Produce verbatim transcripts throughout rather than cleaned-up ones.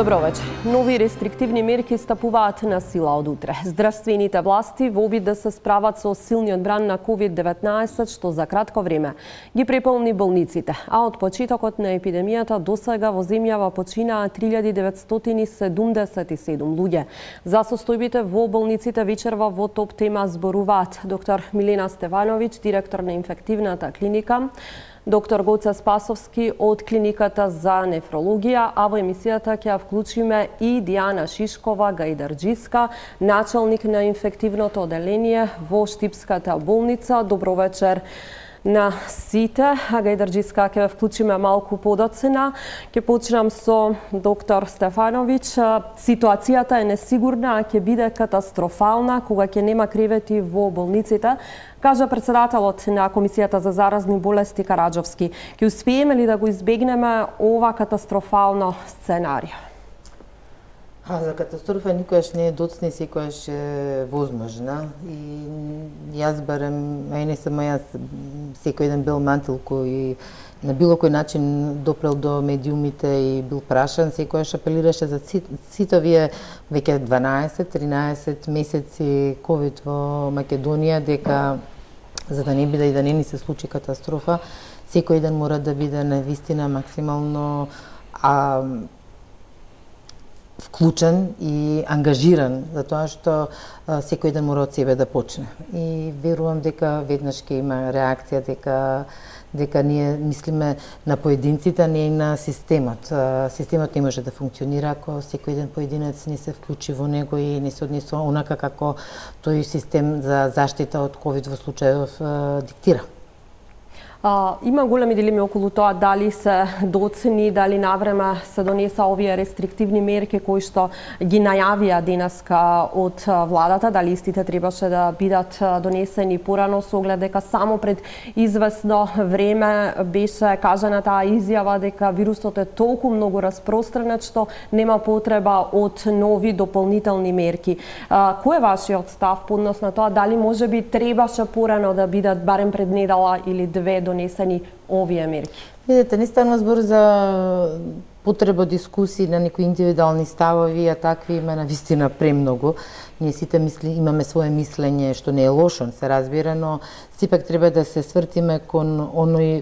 Добро вечер. Нови рестриктивни мерки стапуваат на сила од утре. Здравствените власти во обид да се справат со силниот бран на ковид деветнаесет, што за кратко време ги преполни болниците, а од почетокот на епидемијата досега во земјава починаа три илјади деветстотини седумдесет и седум луѓе. За состојбите во болниците вечерва во топ тема зборуваат доктор Милена Стевановиќ, директор на инфективната клиника, доктор Гоце Спасовски од клиниката за нефрологија, а во емисијата ќе ја вклучиме и Дијана Шишкова Гајдарџиска, началник на инфективното оделение во Штипската болница. Добро вечер на сите. Гајдарџиска ќе ја вклучиме малку подоцена. Ќе почнам со доктор Стефановиќ. Ситуацијата е несигурна, а ќе биде катастрофална кога ќе нема кревети во болниците, кажа председателот на Комисијата за заразни болести Караџовски. Ќе успееме ли да го избегнеме ова катастрофално сценарио? А, за катастрофа никојаш не е доцна и секојаш е возможна. И јас барем, а и не само јас, секој еден бел мантил кој на било кој начин допрел до медиумите и бил прашан, секојаш апелираше за сите овие веќе дванаесет-тринаесет месеци ковид во Македонија, дека за да не биде и да не ни се случи катастрофа, секој ден мора да биде навистина максимално а, вклучен и ангажиран, затоа што а, секој ден мора од себе да почне. И верувам дека веднаш ќе има реакција, дека дека ние мислиме на поединците, а не и на системот. Системот не може да функционира ако секој еден поединец не се вклучи во него и не се однесува онака како тој систем за заштита од ковид во случајов диктира. А, има големи дилеми околу тоа дали се доцени, дали навреме се донеса овие рестриктивни мерки кои што ги најавија денеска од владата, дали истите требаше да бидат донесени порано, со оглед дека само пред известно време беше кажана таа изјава дека вирусот е толку многу распространет што нема потреба од нови дополнителни мерки. А, кој е вашиот став по однос на тоа дали можеби требаше порано да бидат барем пред недела или две донесени овие мерки? Видете, не станува збор за потреба дискусии на некои индивидуални ставови, а такви има навистина премногу. Ние сите мисли, имаме свое мислење, што не е лошо, се разбира, но сепак треба да се свртиме кон оној,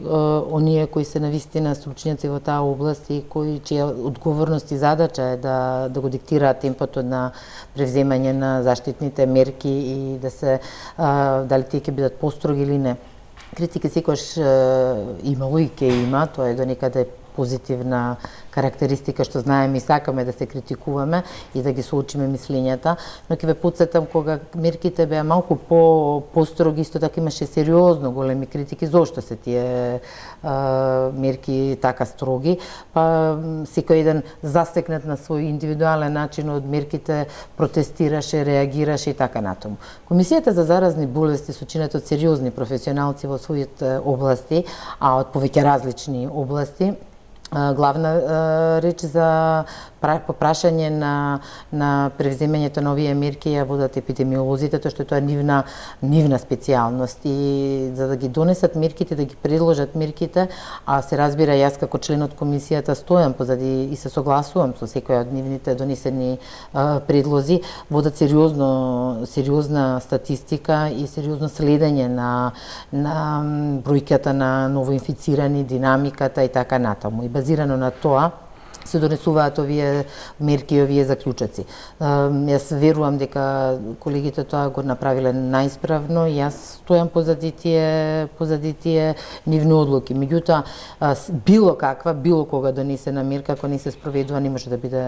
оние кои се навистина стручњаци во таа област и кои чија одговорност и задача е да, да го диктираат темпото на превземање на заштитните мерки и да се, а, дали тие ќе бидат построги или не. Критика секојаш имало и ке има, тоа е до некаде позитивна карактеристика што знаеме и сакаме да се критикуваме и да ги соочиме мислењата, но ќе ве потсетам кога мерките беа малку по построги, исто така имаше сериозно големи критики зошто се тие а, мерки така строги, па секој еден застекнат на свој индивидуален начин од мерките протестираше, реагираше и така натаму. Комисијата за заразни болести со чинет од сериозни професионалци во своите области, а од повеќе различни области, главна реч за прашање на на превземањето на овие мерки ја водат епидемиолозите, тоа што тоа е нивна нивна специјалност и за да ги донесат мерките, да ги предложат мерките, а се разбира јас како член од комисијата стојам позади и се согласувам со секој од нивните донесени а, предлози, водат сериозно сериозна статистика и сериозно следење на на бројката на новоинфицирани, динамиката и така натаму. И базирано на тоа се донесуваат овие мерки и овие заклучоци. Јас верувам дека колегите тоа го направиле најисправно и јас стојам позади тие позади тие нивни одлуки. Меѓутоа, било каква, било кога донесена мерка, ако не се спроведува, не може да биде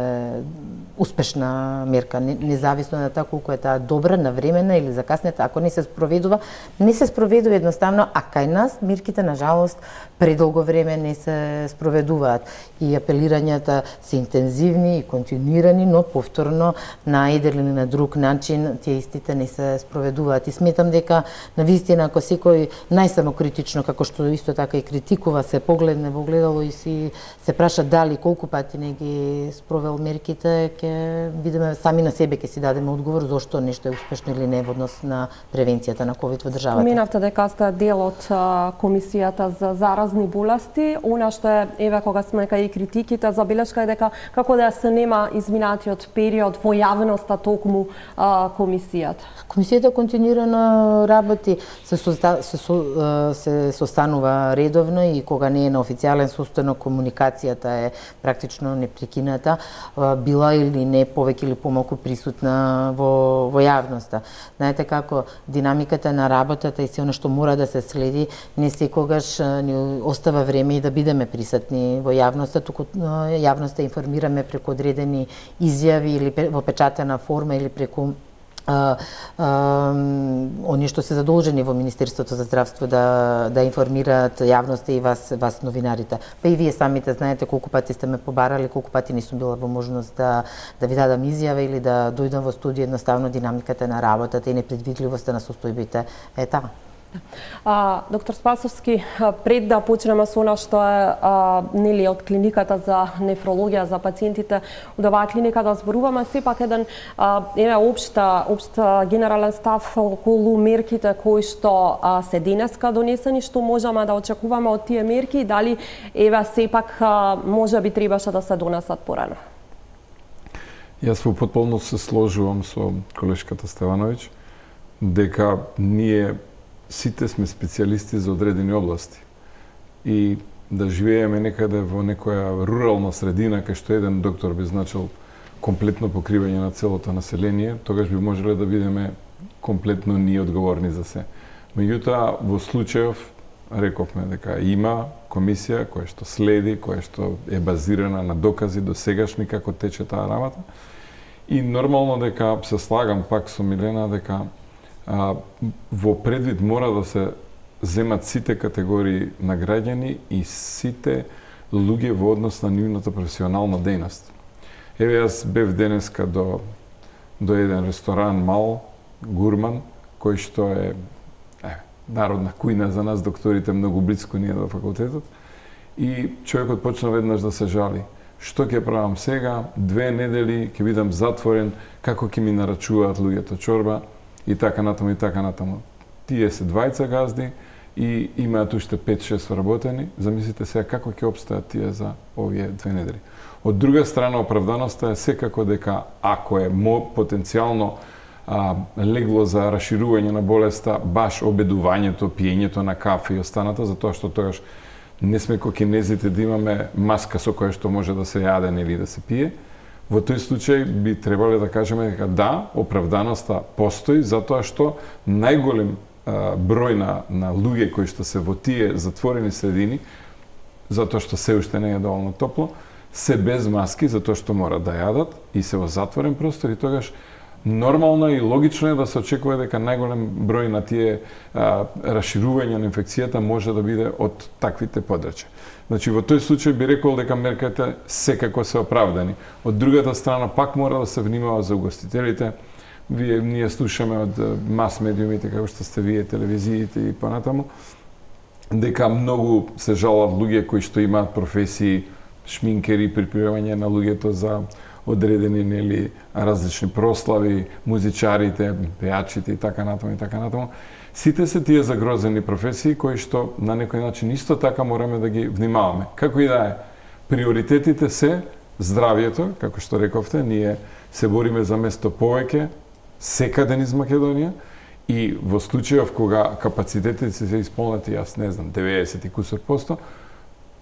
успешна мерка, независно на тоа колку е таа добра, навремена или закаснета. Ако не се спроведува, не се спроведува едноставно, а кај нас мерките на жалост предолго време не се спроведуваат и апелирањата се интензивни и континуирани, но повторно на еден или на друг начин тие истите не се спроведуваат. И сметам дека навистина ако секој најсамокритично, како што исто така и критикува, се погледне во огледало и си се праша дали колку пати не ги спровел мерките, ќе видиме сами на себе, ќе си дадеме одговор зошто нешто е успешно или не во однос на превенцијата на ковид во државата. Споменавте дека сте дел од Комисијата за заразни болести, она што е, еве кога сме кај критиките, забележуваме белешка е дека како да се нема изминатиот период во јавноста токму а, комисијата. Комисијата континуирано работи, се, соста, се, со, се состанува редовно и кога не е на официјален состанок, комуникацијата е практично непрекината, била или не повеќе или помалку присутна во, во јавноста. Знаете како динамиката на работата и се она што мора да се следи, не секогаш ни остава време и да бидеме присутни во јавноста, туку јавноста информираме преку одредени изјави или во печатена форма или преку А, а, оние што се задолжени во Министерството за здравство да да информираат јавноста и вас вас новинарите. Па и вие самите знаете колку пати сте ме побарали, колку пати не сум била во можност да да ви дадам изјава или да дојдам во студио, едноставно динамиката на работата и непредвидливоста на состојбите е таа. А, доктор Спасовски, пред да почнеме со она што е а, нели од клиниката за нефрологија за пациентите, од оваа клиника да зборуваме сепак еден а, еве општа општа генерален став околу мерките кои што а, се денеска донесени, што можеме да очекуваме од тие мерки и дали еве сепак а, може би требаше да се донесат порано. Јас во потполност се сложувам со колешката Стевановиќ дека ние сите сме специјалисти за одредени области. И да живееме некаде во некоја рурална средина кај што еден доктор би значил комплетно покривање на целото население, тогаш би можеле да бидеме комплетно ние одговорни за се. Меѓутоа, во случајов рековме дека има комисија која што следи, која што е базирана на докази до сегашни како тече таа работа. И нормално дека се слагам пак со Милена дека А, во предвид мора да се земат сите категории на граѓани и сите луѓе во однос на нивната професионална дејност. Еве јас бев денеска до до еден ресторан мал, гурман, кој што е, е народна кујна за нас докторите многу близко ние до факултетот, и човекот почна веднаш да се жали. Што ќе правам сега? Две недели ќе бидам затворен, како ќе ми нарачуваат луѓето чорба? И така натаму, и така натаму. Тие се двајца газди и имаат уште пет-шест вработени. Замислите сега како ќе обстојат тие за овие две недели. Од друга страна, оправданоста е секако дека ако е мо потенцијално а, легло за расширување на болеста, баш обедувањето, пиењето на кафе и останата, затоа што тогаш не сме ко кинезите да имаме маска со која што може да се јаде или да се пие. Во тој случај би требале да кажеме дека да, оправданоста постои, затоа што најголем а, број на, на луѓе кои што се во тие затворени средини, затоа што се уште не е доволно топло, се без маски, затоа што мора да јадат и се во затворен простор, и тогаш нормално и логично е да се очекува дека најголем број на тие а, расширување на инфекцијата може да биде од таквите подрачја. Значи, во тој случај би рекол дека мерките секако се оправдани. Од другата страна, пак мора да се внимава за угостителите. Вие, ние слушаме од мас медиумите, како што сте вие, телевизиите и понатаму, дека многу се жалат луѓе кои што имаат професии, шминкери, припремање на луѓето за одредени нели различни прослави, музичарите, пејачите и така натаму и така натаму. Сите се тие загрозени професии кои што на некој начин исто така мораме да ги внимаваме. Како и да е, приоритетите се здравието, како што рековте, ние се бориме за место повеќе секаде низ Македонија, и во случајов кога капацитетите се исполнети, јас не знам, деветдесет и кусор посто,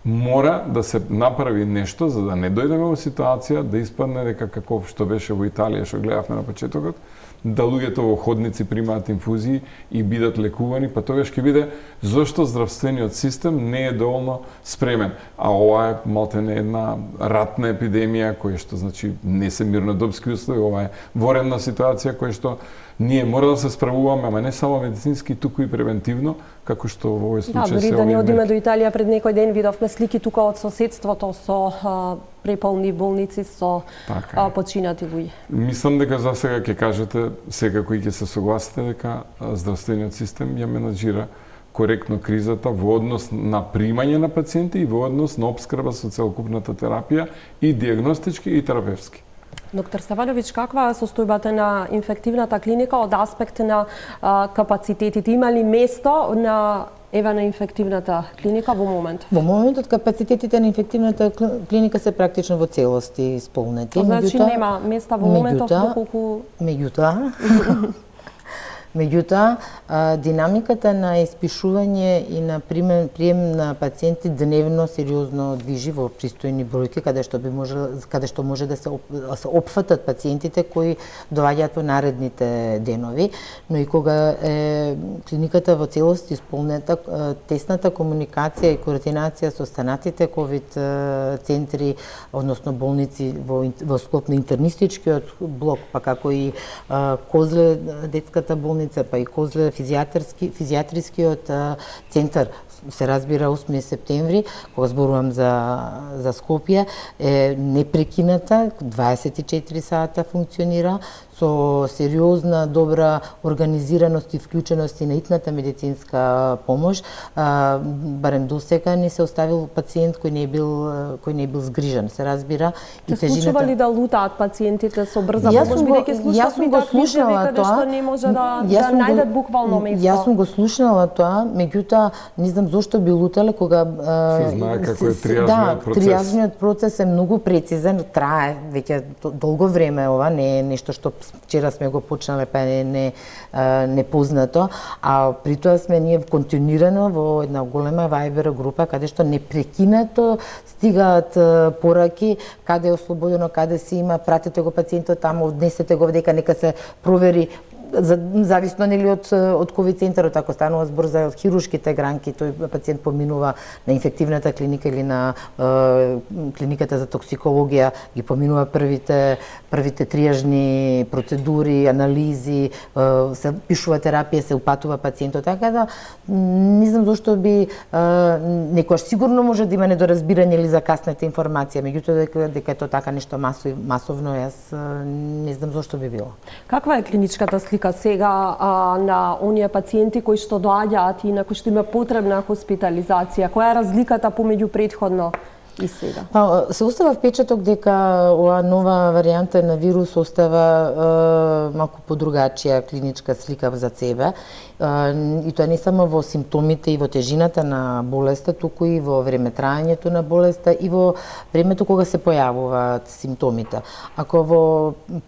мора да се направи нешто за да не дојдеме во ситуација да испадне дека како што беше во Италија, што гледавме на почетокот, да луѓето во ходници примаат инфузии и бидат лекувани, па тогаш ќе биде зошто здравствениот систем не е доволно спремен. А ова е малтене една ратна епидемија која што значи не се мирнодопски услови, ова е военна ситуација која што ние мора да се справуваме, ама не само медицински, туку и превентивно, како што во овој случај да, се дори да не одиме до Италија, пред некој ден видовме слики тука од соседството со а, преполни болници со а, починати луѓе. Мислам дека за сега ќе кажете, секако и ќе се согласите дека здравствениот систем ја менаџира коректно кризата во однос на примање на пациенти и во однос на обскрба со целокупната терапија и диагностички и терапевски. Доктор Стевановиќ, каква е состојбата на инфективната клиника од аспект на а, капацитетите? Има ли место на еве на инфективната клиника во моментов? Во моментот капацитетите на инфективната клиника се практично во целости исполнети. Значи меѓутоа, нема места во моментов меѓутоа, доколку Меѓутоа, Меѓутоа, динамиката на испишување и на прием, прием на пациенти дневно сериозно движи во пристојни бројки, каде што би може каде што може да се оп, се опфатат пациентите кои доаѓаат во наредните денови, но и кога е клиниката во целост исполнета, тесната комуникација и координација со останатите ковид центри, односно болници во, во склоп на интернистичкиот блок, па како и Козле детската болница, па и Козле физијатрски физијатрискиот центар, се разбира осми септември, кога зборувам за за Скопје, е непрекината, дваесет и четири сата функционира со сериозна, добра организираност и вклученост и на итната медицинска помош. А, барем до сега не се оставил пациент кој не е бил кој не е бил згрижен, се разбира. И тежината... случува ли да лутаат пациентите со брза помош, бидејќи слушнавме такви случаи каде што не може да, да најдат буквално место? Јас сум го слушнала тоа, меѓутоа не знам зошто би лутале кога се знае како е триажниот да, процес. Триажниот процес е многу прецизен, трае веќе долго време, ова не е нешто што вчера сме го почнале, па не, не, не познато, а при тоа сме ние континуирано во една голема Viber група, каде што непрекинато стигаат пораки, каде е ослободено, каде се има, пратете го пациентот таму, однесете го дека нека се провери, за, зависно нели од од ковид центарот, ако станува збор за хируршките гранки, тој пациент поминува на инфективната клиника или на е, клиниката за токсикологија, ги поминува првите првите триажни процедури, анализи, е, се пишува терапија, се упатува пациентот, така да не знам зошто би е, некојаш сигурно може да има недоразбирање или закасната информација, меѓутоа дека дека е тоа така нешто масово, масовно, јас не знам зошто би било. Каква е клиничката слика сега а, на оние пациенти кои што доаѓаат и на кои што има потребна хоспитализација? Која е разликата помеѓу претходно и сега? Па, се остава впечаток дека оваа нова варијанта на вирус остава е, малку подругачија клиничка слика за себе. Е, и тоа не само во симптомите и во тежината на болеста, туку и во време траењето на болеста и во времето кога се појавуваат симптомите. Ако во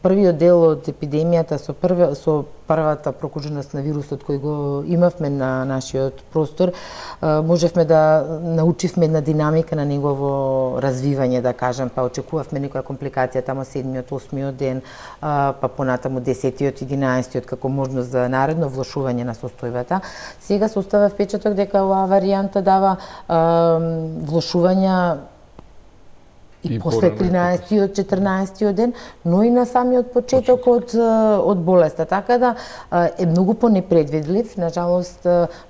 првиот дел од епидемијата со прве со првата прокуженост на вирусот кој го имавме на нашиот простор, можевме да научивме една динамика на негово развивање, да кажем, па очекувавме некоја компликација тамо седмиот, осмиот ден, па понатаму десетиот, единаесетиот како можност за наредно влошување на состојбата. Сега се остава впечаток дека оваа варијанта дава влошувања и, и после тринаесетиот, четрнаесетиот ден, но и на самиот почеток од, од болеста. Така да е многу понепредвидлив, нажалост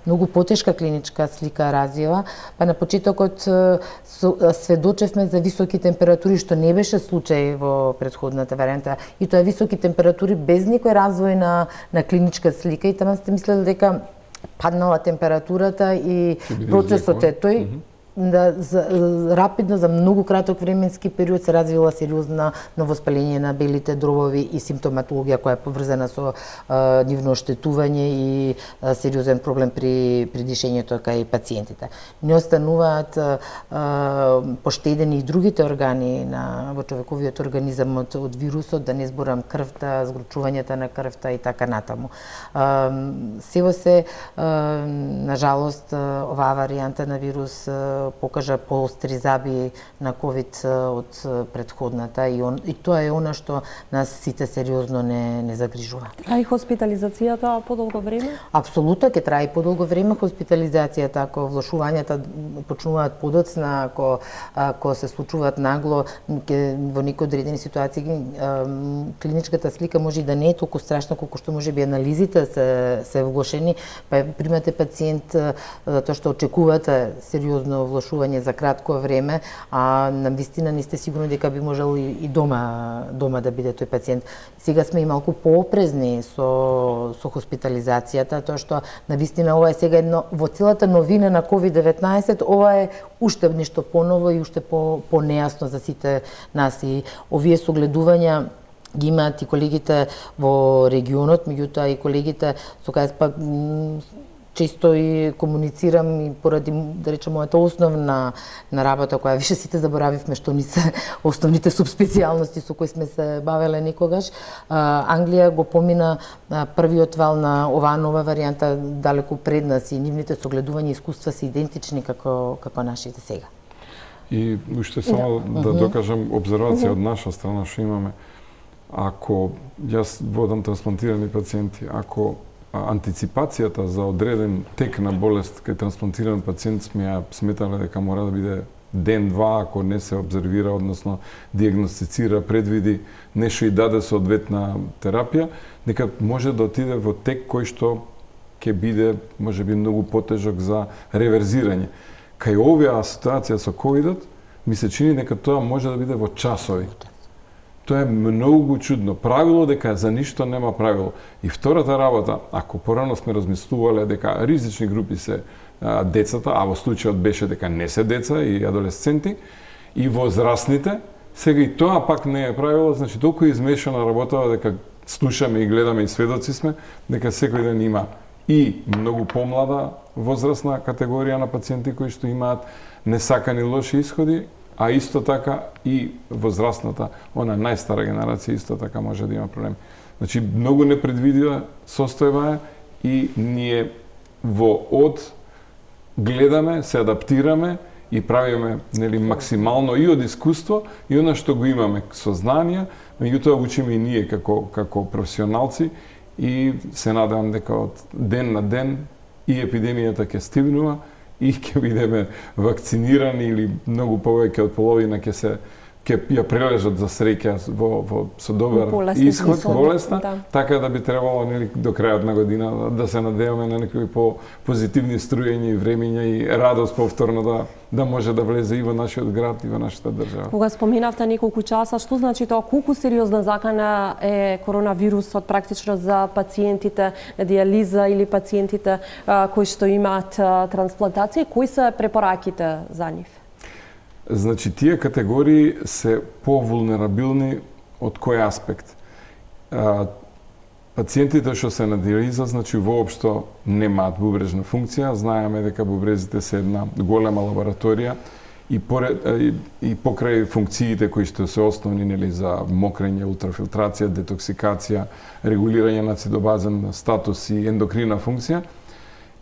многу потешка клиничка слика развива, па на почетокот сведочевме за високи температури, што не беше случај во претходната варијанта, и тоа високи температури без никој развој на, на клиничка слика, и тама сте мислели дека паднала температурата и процесот е тој, да за, рапидно за многу краток временски период се развила сериозна новоспаление на белите дробови и симптоматологија која е поврзана со а, нивно оштетување и а, сериозен проблем при при дишењето кај пациентите. Не остануваат а, а, поштедени и другите органи на во човековиот организам од, од вирусот, да не зборам крвта, згручувањето на крвта и така натаму. А, сево се а, на жалост оваа варијанта на вирус покажа поостри заби на ковид од претходната, и, он, и тоа е она што нас сите сериозно не, не загрижува. А и хоспитализацијата подолго време? Апсолутно ќе трае подолго време хоспитализацијата, ако влошувањата почнуваат подоцна, ако, ако се случуваат нагло, ке, во некои одредени ситуации клиничката слика може и да не е толку страшна колку што може би анализите се, се влошени, па примате пациент тоа што очекувате сериозно влошување за кратко време, а на вистина не сте сигурни дека би можел и, и дома дома да биде тој пациент. Сега сме и малку поопрезни со со хоспитализацијата, тоа што на вистина ова е сега едно во целата новина на ковид деветнаесет, ова е уште нешто поново и уште по понејасно за сите нас, и овие согледувања ги имаат и колегите во регионот, меѓутоа и колегите со кои па често и комуницирам и поради, да речем, мојата основна на работа, која више сите заборавивме што ни се основните субспецијалности со кои сме се бавеле некогаш. Англија го помина првиот вал на оваа нова варијанта далеку пред нас и нивните согледувања искуства се идентични како како нашите сега. И уште само да, да докажам обзервација од наша страна што имаме. Ако јас водам трансплантирани пациенти, ако антиципацијата за одреден тек на болест кај трансплантиран пациент сме ја сметале дека мора да биде ден-два, ако не се обзервира, односно диагностицира, предвиди нешто и даде соодветна терапија, дека може да отиде во тек кој што ќе биде можеби многу потежок за реверзирање. Кај оваа ситуација со ковидот, ми се чини дека тоа може да биде во часови. Тоа е многу чудно. Правило дека за ништо нема правило. И втората работа, ако порано сме размислувале дека ризични групи се а, децата, а во случајот беше дека не се деца и адолесценти, и возрастните, сега и тоа пак не е правило, значи толку измешана работа дека слушаме и гледаме и сведоци сме, дека секој ден има и многу помлада возрастна категорија на пациенти кои што имаат несакани лоши исходи, а исто така и возрастната, она најстара генерација исто така може да има проблеми. Значи, многу непредвидива состојба е и ние во од гледаме, се адаптираме и правиме нели максимално и од искуство и она што го имаме со знанија, меѓутоа учиме и ние како како професионалци и се надевам дека од ден на ден и епидемијата ќе стигнува и ќе бидеме вакцинирани или многу повеќе од половина ќе се ќе ја прележат за среќа во, во со добар исход, болесна, да. Така да би требало нели до крајот на година да се надеваме на некои по позитивни струјења и времења и радост повторно да да може да влезе и во нашиот град и во нашата држава. Кога споминавте неколку часа, што значи тоа, колку сериозна закана е коронавирусот практично за пациентите на дијализа или пациентите а, кои што имаат а, трансплантација, кои се препораките за нив? Значи, тие категории се повулнерабилни од кој аспект? А, пациентите што се на диализа, значи, воопшто немаат бубрежна функција. Знаеме дека бубрезите се една голема лабораторија и, поред, и, и покрај функциите кои што се основни нели, за мокрење, ултрафилтрација, детоксикација, регулирање на цитобазен статус и ендокрина функција,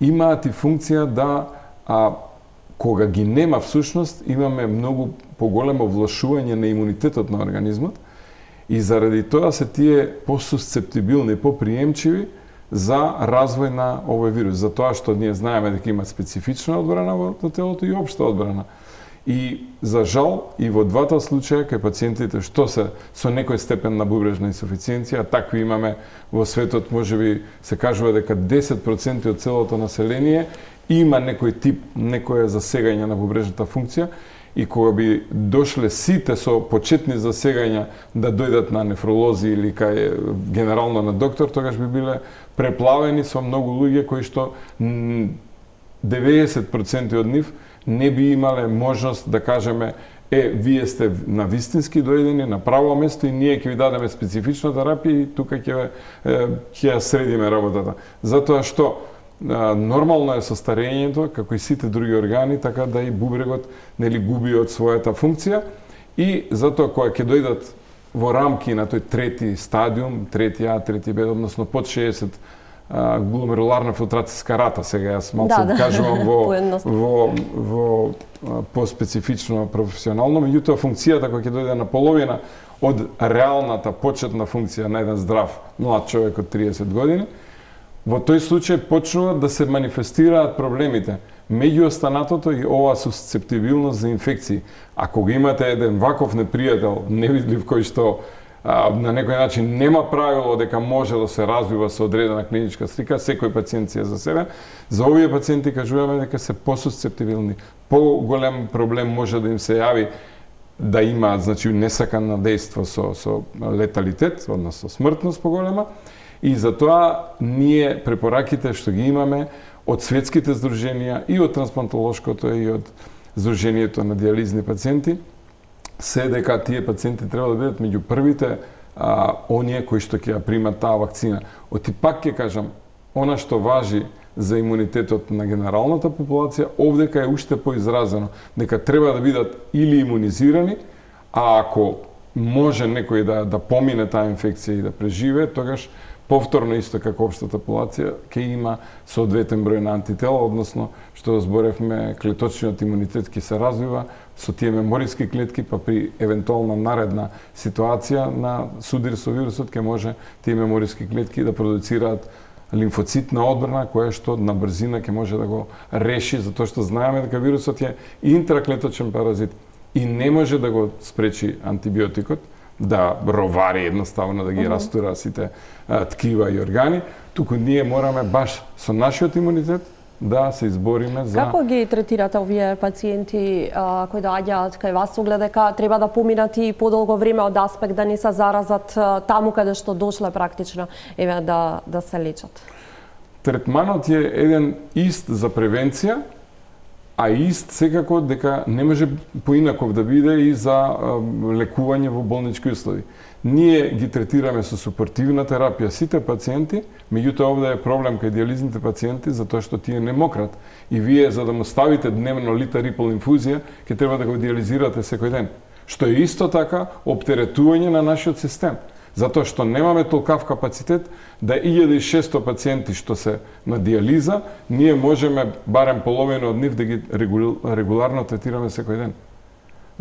имаат и функција да а, кога ги нема всушност, имаме многу поголемо влошување на имунитетот на организмот и заради тоа се тие посусцептибилни, поприемчиви за развој на овој вирус. За тоа што ние знаеме дека има специфична одбрана во телото и општа одбрана. И за жал и во двата случаја кај пациентите што се со некој степен на бубрежна инсуфициенција, такви имаме во светот, можеби се кажува дека десет проценти од целото население има некој тип, некоја засегање на бубрежната функција и кога би дошле сите со почетни засегања да дојдат на нефролози или кај генерално на доктор, тогаш би биле преплавени со многу луѓе кои што деветдесет проценти од нив не би имале можност да кажеме е, вие сте на вистински дојдени на право место и ние ќе ви дадеме специфична терапија и тука ќе ќе ја средиме работата. Затоа што нормално е со старењето, како и сите други органи, така да и бубрегот нели губи од својата функција и затоа кога ќе дојдат во рамки на тој трети стадиум, трети А, трети Б, односно под шеесет гломеруларна филтрацијска рата, сега јас малку да, да. кажувам во во во поспецифично професионално, меѓутоа функцијата кога ќе дојде на половина од реалната почетна функција на еден здрав млад човек од триесет години, во тој случај почнуваат да се манифестираат проблемите. Меѓу останатото и оваа сусцептибилност за инфекции. Ако го имате еден ваков непријател, невидлив, кој што а, на некој начин нема правило дека може да се развива со одредена клиничка слика, секој пациент си е за себе, за овие пациенти кажуваме дека се посусцептибилни. Поголем проблем може да им се јави да имаат, значи, несакано дејство со, со леталитет, односно смртност поголема, и затоа ние препораките што ги имаме од светските здруженија и од трансплантолошкото и од Здруженијето на дијализни пациенти се дека тие пациенти треба да бидат меѓу првите а, оние кои што ќе ја примат таа вакцина. Оти пак ќе кажам, она што важи за имунитетот на генералната популација, овдека е уште поизразено дека треба да бидат или имунизирани, а ако може некој да да помине таа инфекција и да преживее, тогаш повторно исто како општата популација ќе има соодветен број на антитела, односно што зборевме, клеточниот имунитет ќе се развива со тие мемориски клетки, па при евентуална наредна ситуација на судир со вирусот ќе може тие мемориски клетки да продуцираат лимфоцитна одбрана која што на брзина ќе може да го реши, затоа што знаеме дека вирусот е интраклеточен паразит и не може да го спречи антибиотикот да ровари едноставно, да ги растура сите а, ткива и органи, туку ние мораме баш со нашиот имунитет да се избориме за... Како ги третирате овие пациенти а, кои доаѓаат кај вас, оглед дека треба да поминат и подолго време од аспект да не се заразат а, таму каде што дошле практично еве да да се лечат? Третманот е еден ист за превенција, а ист секако дека не може поинаков да биде и за а, лекување во болнички услови. Ние ги третираме со супортивна терапија сите пациенти, меѓутоа овде е проблем кај диализните пациенти затоа што тие не мократ и вие за да му ставите дневно литарипол инфузија ќе треба да го диализирате секој ден, што е исто така оптеретување на нашиот систем. Затоа што немаме толкав капацитет да илјада и шесто пациенти што се на диализа, ние можеме барем половина од нив да ги регуларно третираме секој ден.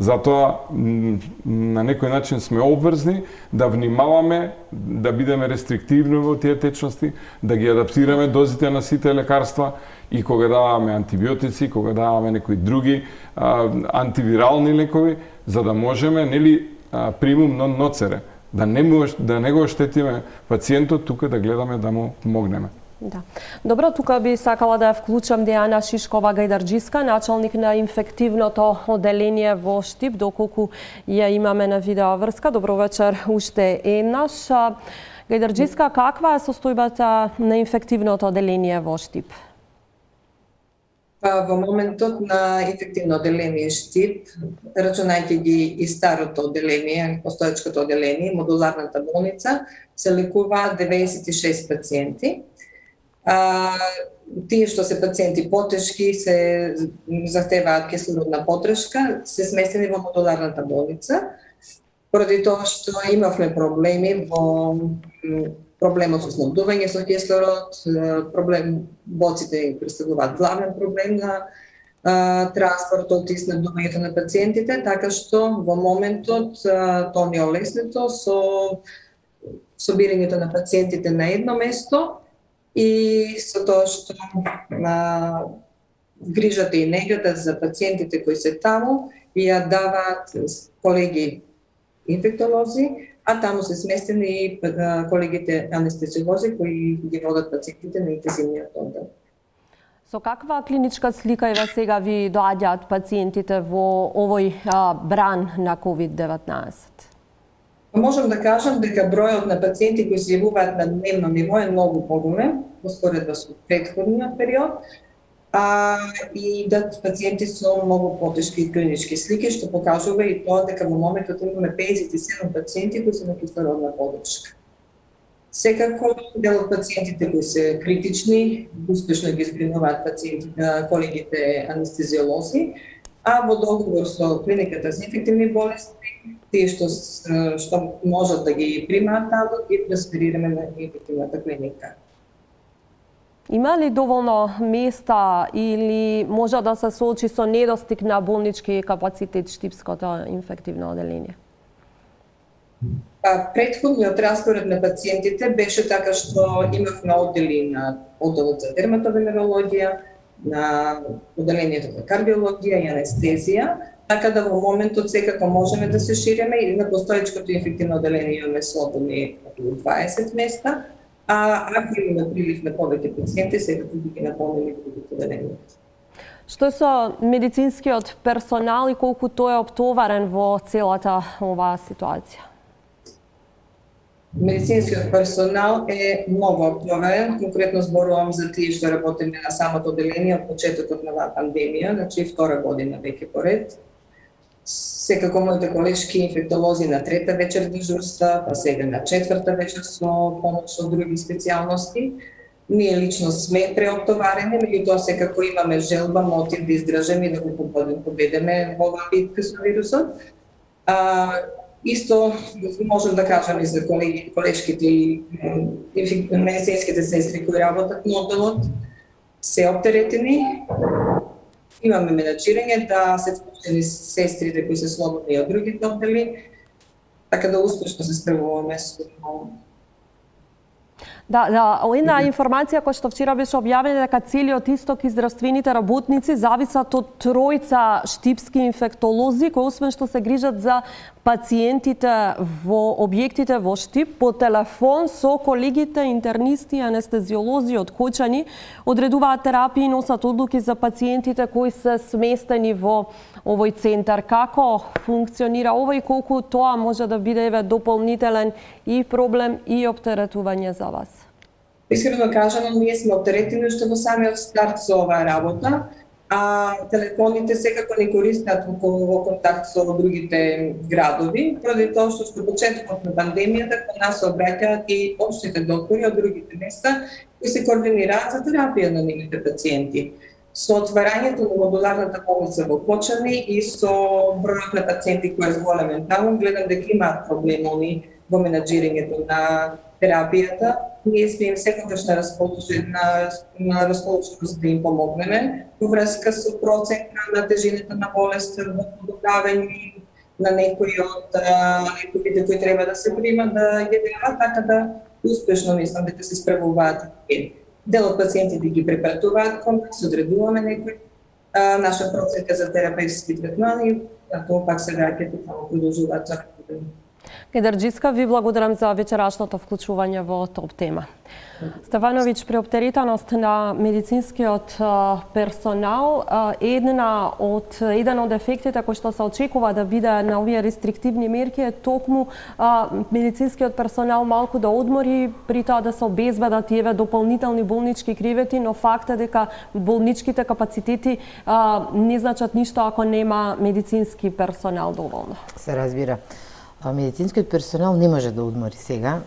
Затоа на некој начин сме обврзни да внимаваме, да бидеме рестриктивни во тие течности, да ги адаптираме дозите на сите лекарства и кога даваме антибиотици, кога даваме некои други а, антивирални лекови, за да можеме, нели, примум нон ноцере, да не, да не го оштетиме пациентот, тука да гледаме да му помогнеме. Да. Добро, тука би сакала да ја вклучам Дејана Шишкова-Гајдарџиска, началник на инфективното оделение во Штип, доколку ја имаме на видеоврска. Добро вечер уште еднаш. Гајдарџиска, каква е состојбата на инфективното оделение во Штип? Па, во моментот на инфективно оделение Штип, рачунајќи ги и старото оделение, постоечкото оделение, модуларната болница, се лекуваат деветдесет и шест пациенти. А, тие што се пациенти потешки, се захтеваат кислородна подршка, се сместени во модуларната болница, поради тоа што имавме проблеми во проблемот со снабдување со кислород, проблем боците представуваат главен проблем на а, транспортот и снабдувањето на пациентите, така што во моментот а, тоа ни е олеснето со собирањето на пациентите на едно место и со тоа што а, грижата и негата за пациентите кои се таму ја даваат колеги инфектолози, а таму се сместени и колегите анестезиолози кои ги водат пациентите на интензивниот оддел. Со каква клиничка слика еве сега ви доаѓаат пациентите во овој а, бран на ковид деветнаесет? Можам да кажам дека бројот на пациенти кои се јавуваат на дневно ниво е многу поголем во споредба со претходниот период, а и да пациенти со многу потешки клинички слики, што покажува и тоа дека во моментот имаме педесет и седум пациенти кои се на кислородна подршка. Секако, дел од пациентите кои се критични, успешно ги згринуваат пациенти, колегите анестезиолози, а во договор со клиниката за инфективни болести, тие што, што можат да ги примаат таму, ги трансферираме на инфективната клиника. Има ли доволно места или може да се соочи со недостиг на болнички капацитет Штипското инфективно оделение? Па, претходниот распоред на пациентите беше така што имавме оддели на одделот за дерматовенерологија, на оделението за кардиологија и анестезија, така да во моментот секако можеме да се шириме и на постоечкото инфективно оделение имаме слободни околу дваесет места, а ако имаме прилив на повеќе пациенти, секако би ги наполнили другите оделението. Што е со медицинскиот персонал и колку тој е оптоварен во целата оваа ситуација? Медицинскиот персонал е многу оптоварен, конкретно зборувам за тие што работиме на самото оделение од почетокот на оваа пандемија, значи втора година веќе поред. Секако моите колешки инфектолози на трета вечер дежурства, па сега на четврта вечер со помош од други специјалности. Ние лично сме преоптоварени, меѓутоа секако имаме желба, мотив да издржеме и да го победиме во оваа битка со вирусот. А, исто можам да кажам и за колеги, колешките и медицинските сестри кои работат на одделот, се оптеретени. Имаме менаџирање да се вклучени сестрите кои се слободни од другите оддели, така да успешно се справуваме со Да, да, една информација која што вчера беше објавена дека целиот исток и здравствените работници зависат од тројца штипски инфектолози кои освен што се грижат за пациентите во објектите во Штип, по телефон со колегите интернисти и анестезиолози од Кочани одредуваат терапии и носат одлуки за пациентите кои се сместени во овој центар. Како функционира ова и колку тоа може да биде еве дополнителен и проблем и оптеретување за вас? Искрено кажано, ние сме оптеретени уште во самиот старт со оваа работа, а телефоните секако не користат во контакт со другите градови, поради тоа што во почетокот на пандемијата кон нас се обраќаат и општите доктори од другите места кои се координираат за терапија на нивните пациенти. Со отварањето на модуларната болница во Кочани и со бројот на пациенти кои е зголемен таму, гледам дека имаат проблеми во менаџирањето на терапијата. Ние сме им секогаш на расположение на, на расположеност да им помогнеме во врска со процента на тежината на болест, во подобравање на некои од лековите кои треба да се примат да ги дава, така да успешно мислам дека се справуваат. Дел од пациентите ги препратуваат кон нас, одредуваме некои наша проценка за терапевтски третмани, а тоа пак се враќаат и таму продолжуваат за работа. Кедарџиска, ви благодарам за вечерашното вклучување во топ тема. Стефановиќ, преоптеретаност на медицинскиот персонал една од еден од ефектите кои што се очекува да биде на овие рестриктивни мерки е токму а, медицинскиот персонал малку да одмори, при тоа да се обезбедат и еве дополнителни болнички кревети, но факт е дека болничките капацитети а, не значат ништо ако нема медицински персонал доволно. Се разбира. Медицинскиот персонал не може да одмори сега,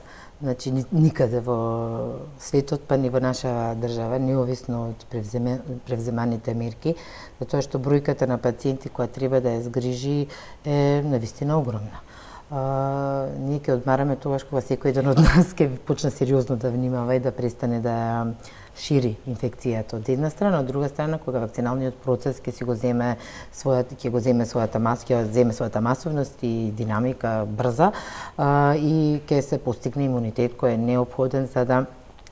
значи никаде во светот, па ни во наша држава, неовисно од превземе, превземаните мерки, затоа што бројката на пациенти која треба да ја згрижи е навистина огромна. А, ние ќе одмараме тогаш кога секој еден од нас ќе почне сериозно да внимава и да престане да шири инфекцијата од една страна, од друга страна кога вакциналниот процес ќе си го земе својата ќе го земе својата маска, ќе земе својата масовност и динамика брза а, и ќе се постигне имунитет кој е неопходен за да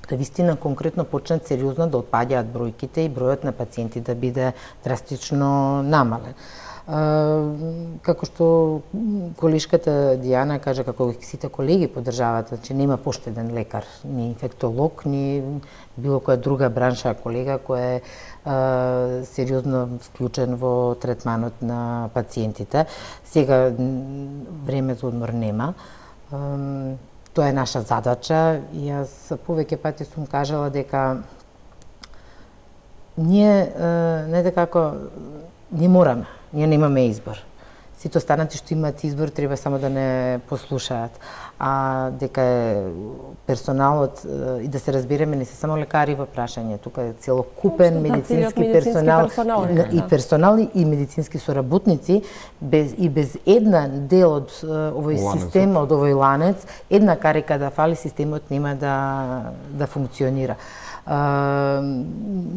да вистина конкретно почнат сериозно да отпаѓаат бројките и бројот на пациенти да биде драстично намален. Uh, како што колешката Дијана кажа, како сите колеги поддржаваат, че нема поштеден лекар, ни инфектолог, ни било која друга бранша колега кој е uh, сериозно вклучен во третманот на пациентите. Сега време за одмор нема. Uh, тоа е наша задача и јас повеќе пати сум кажала дека ние uh, не дека како не мораме. Ние немаме избор. Сите останати што имаат избор треба само да не послушаат. А дека е персоналот и да се разбереме не се само лекари во прашање, тука е целокупен медицински, медицински персонал, персонал и да. персонал и медицински соработници без и без една дел од овој ланец. Систем, од овој ланец, една карика да фали, системот нема да да функционира. Uh,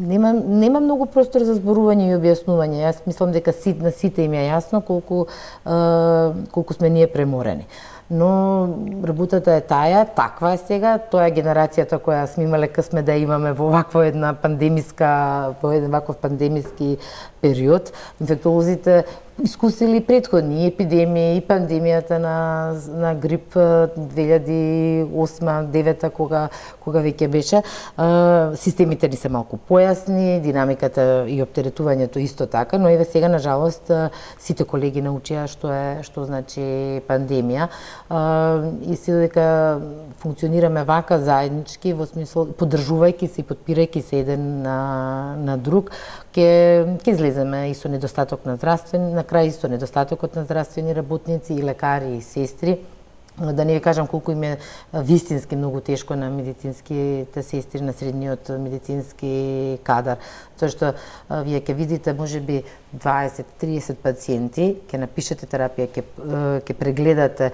нема, нема многу простор за зборување и објаснување. Јас мислам дека сит, на сите им е јасно колку, uh, колку сме ние преморени. Но работата е таја, таква е сега, тоа е генерацијата која сме имале късме да имаме во ваква една пандемиска, во еден ваков пандемиски период. Инфектолозите искусили предходни епидемии и пандемијата на на грип две илјади и осма девета кога кога веќе беше. Системите ни се малку појасни, динамиката и оптеретувањето исто така, но еве сега на жалост сите колеги научија што е што значи пандемија. И се дека функционираме вака заеднички во смисол поддржувајќи се и подпирајќи се еден на на друг, ќе ќе излеземе и со недостаток на здравствени, на крај со недостатокот на здравствени работници и лекари и сестри, да не ви кажам колку им е вистински многу тешко на медицинските сестри, на средниот медицински кадар. Тоа што вие ќе видите можеби дваесет до триесет пациенти, ќе напишете терапија, ќе ќе прегледате,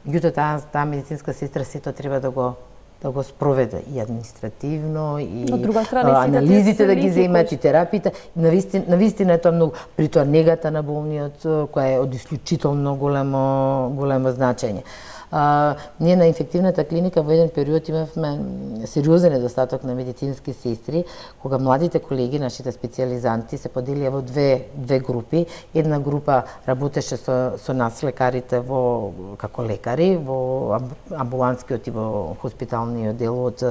меѓутоа таа таа медицинска сестра сето треба да го да го спроведе и административно и страна, анализите да ги земат и терапиите. Навистина, навистина е тоа многу, при тоа негата на болниот која е од исклучително големо големо значење. А, ние на инфективната клиника во еден период имавме сериозен недостаток на медицински сестри, кога младите колеги, нашите специализанти, се поделија во две две групи. Една група работеше со со нас лекарите во како лекари во амбулантскиот и во хоспиталниот дел од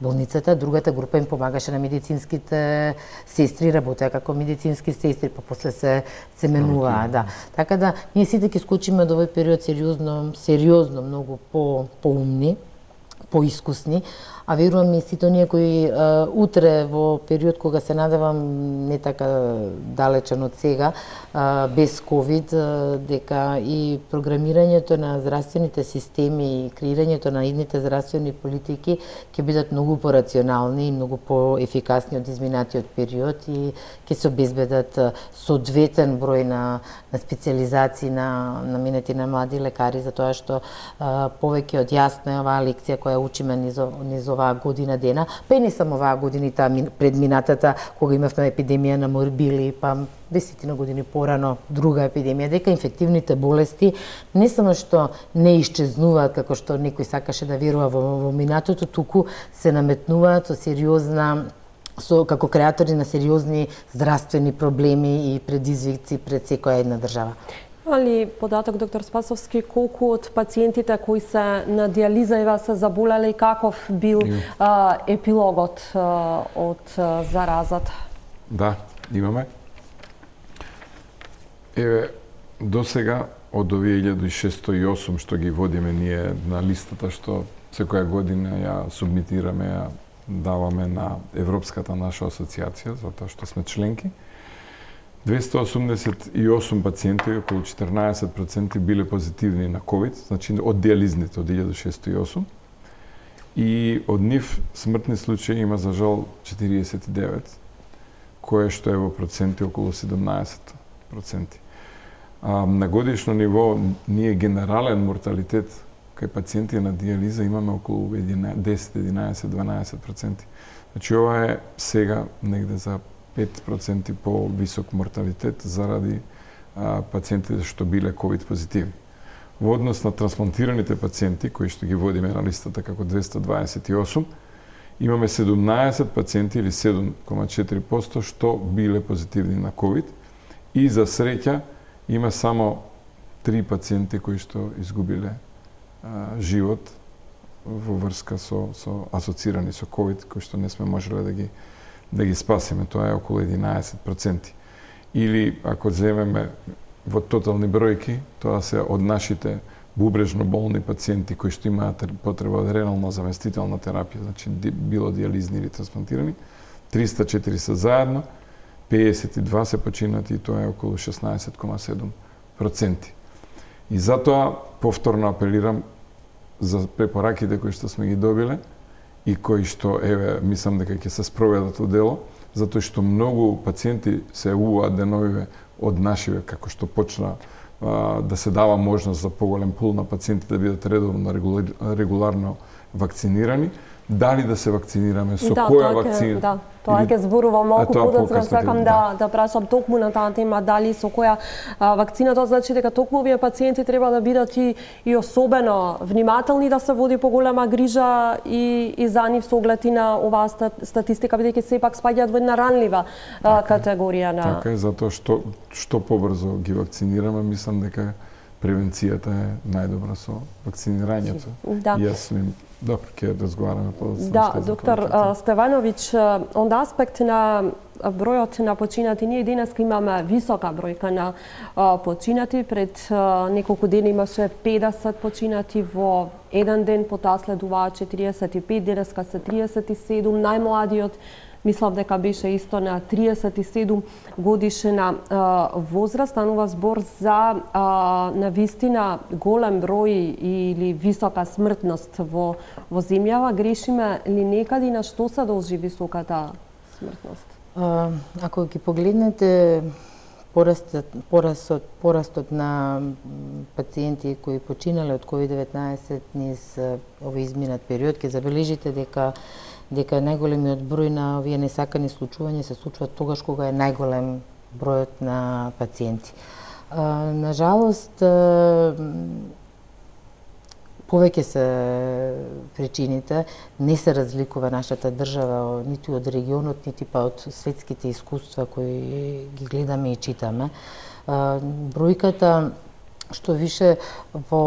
болницата, другата група им помагаше на медицинските сестри, работеа како медицински сестри, па после се се менуваа, да. Така да ние сите ќе скочиме од овој период сериозно, сериозно многу по поумни, поискусни, а верувам и сите оние кои а, утре во период кога се надевам не така далечен од сега, а, без ковид, а, дека и програмирањето на здравствените системи и креирањето на идните здравствени политики ќе бидат многу порационални и многу поефикасни од изминатиот период и ќе се обезбедат соодветен број на, на специализации на наменети на млади лекари, затоа што а, повеќе од јасно е оваа лекција која учиме низ, низ оваа година дена, па и не само оваа година, таа предминатата, кога имавме епидемија на морбили, па десетина години порано друга епидемија, дека инфективните болести не само што не исчезнуваат како што некој сакаше да верува во, во минатото, туку се наметнуваат со сериозна со како креатори на сериозни здравствени проблеми и предизвици пред секоја една држава. Али податок, доктор Спасовски, колку од пациентите кои се на диализа ева се заболеле и каков бил а, епилогот а, од а, заразата? Да, имаме. Еве, до сега од овие илјада шестоста и осум што ги водиме ние на листата што секоја година ја субмитираме, ја даваме на Европската наша асоциација, затоа што сме членки, двеста осумдесет и осум пациенти, околу четрнаесет проценти биле позитивни на ковид, значи од диализните од илјада шестоста и осум. И од нив смртни случаи има за жал четириесет и девет, кое што е во проценти околу седумнаесет проценти. А, на годишно ниво ние генерален морталитет кај пациенти на диализа имаме околу десет, единаесет, дванаесет проценти. Значи ова е сега негде за пет проценти по-висок морталитет заради а, пациентите што биле ковид позитивни. Во однос на трансплантираните пациенти, кои што ги водиме на листата како двеста дваесет и осум, имаме седумнаесет пациенти или седум зарез четири проценти што биле позитивни на ковид и за среќа има само три пациенти кои што изгубиле а, живот во врска со, со асоцирани со ковид, кои што не сме можеле да ги да ги спасиме, тоа е околу единаесет проценти. Или, ако земеме во тотални бројки, тоа се од нашите бубрежно болни пациенти кои што имаат потреба од ренално заместителна терапија, значи било диализни или трансплантирани, триста и четири се заедно, педесет и два се починати и тоа е околу шеснаесет зарез седум проценти. И затоа повторно апелирам за препораките кои што сме ги добиле, и кои што, еве, мислам дека ќе се спроведат во дело, затоа што многу пациенти се јавуваат деновиве од нашиве, како што почна а, да се дава можност за поголем пул на пациенти да бидат редовно, регуларно вакцинирани, дали да се вакцинираме, со да, која тоа вакцина? Да, тоа ќе зборувам малку подоцна, сакам да, да прашам токму на таа тема, дали со која а, вакцина, тоа значи дека токму овие пациенти треба да бидат и, и особено внимателни, да се води поголема грижа и, и за нив со оглед и на оваа статистика, бидејќи сепак спаѓаат во една ранлива а, категорија на... Така е, затоа што, што побрзо ги вакцинираме, мислам дека превенцијата е најдобра со вакцинирањето. Да. Јас им добро ќе разговараме подоцна. Да, доктор Стевановиќ, онда аспект на бројот на починати, ние денеска имаме висока бројка на а, починати. Пред а, неколку дена имаше педесет починати во еден ден, потоа следуваа четириесет и пет, денеска се триесет и седум, најмладиот мислам дека беше исто на триесет и седум годишна возраст. Станува збор за на вистина голем број или висока смртност во во земјава. Грешиме ли некаде, на што се должи високата смртност? А, ако ги погледнете порастот, порастот, порастот на пациенти кои починале од ковид деветнаесет низ овој изминат период, ќе забележите дека дека најголемиот број на овие несакани случувања се случуваат тогаш кога е најголем бројот на пациенти. А, на жалост, повеќе се причините, не се разликува нашата држава нити од регионот, нити па од светските искуства кои ги гледаме и читаме. Бројката што више во,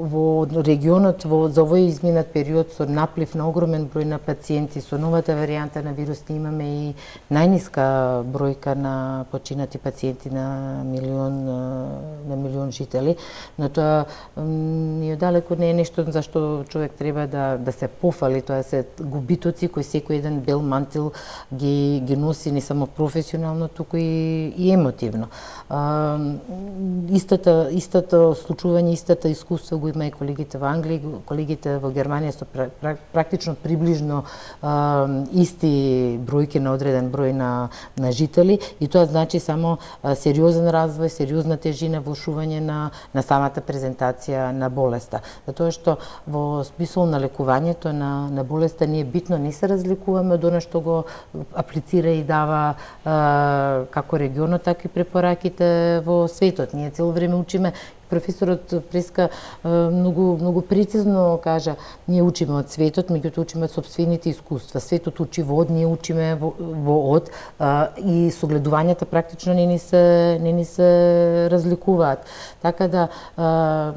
во регионот во, за овој изминат период со наплив на огромен број на пациенти, со новата варијанта на вирус имаме и најниска бројка на починати пациенти на милион на милион жители, но тоа ни далеко не е нешто за што човек треба да да се пофали, тоа се губитоци кои секој еден бел мантил ги ги носи не само професионално, туку и, и емотивно. А, истата Истото случување, истата искуство го има и колегите во Англија, колегите во Германија со практично приближно а, исти бројки на одреден број на, на жители, и тоа значи само а, сериозен развој, сериозна тежина, влошување на, на самата презентација на болеста. Затоа што во смисол на лекувањето на, на болеста ние битно не се разликуваме од она што го аплицира и дава а, како регионот, така и препораките во светот. Ние цело време учиме. Професорот Преска многу многу прецизно кажа, ние учиме од светот, меѓутоа учиме од сопствените искуства. Светот учи во од, ние учиме во, во од, а, и согледувањата практично не ни се не ни се разликуваат. Така да а,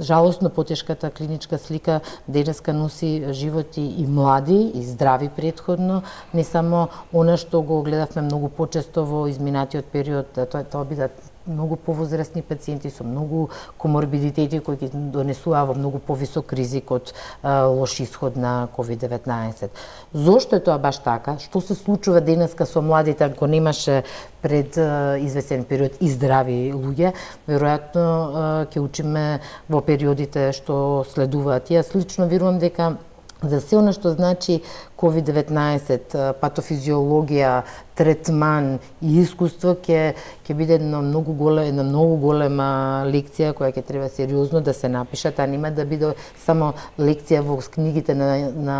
жалосно потешката клиничка слика денеска носи животи и млади и здрави претходно, не само она што го гледавме многу почесто во изминатиот период, тоа тоа бидат многу повозрастни пациенти со многу коморбидитети кои ги донесуваа во многу повисок ризик од а, лош исход на ковид деветнаесет. Зошто е тоа баш така? Што се случува денеска со младите, ако немаше пред а, известен период и здрави луѓе? Веројатно ќе учиме во периодите што следуваат. Јас лично верувам дека за се она што значи ковид деветнаесет, патофизиологија, третман и искуство ќе ќе биде една многу голема една многу голема лекција која ќе треба сериозно да се напише, таа нема да биде само лекција во книгите на, на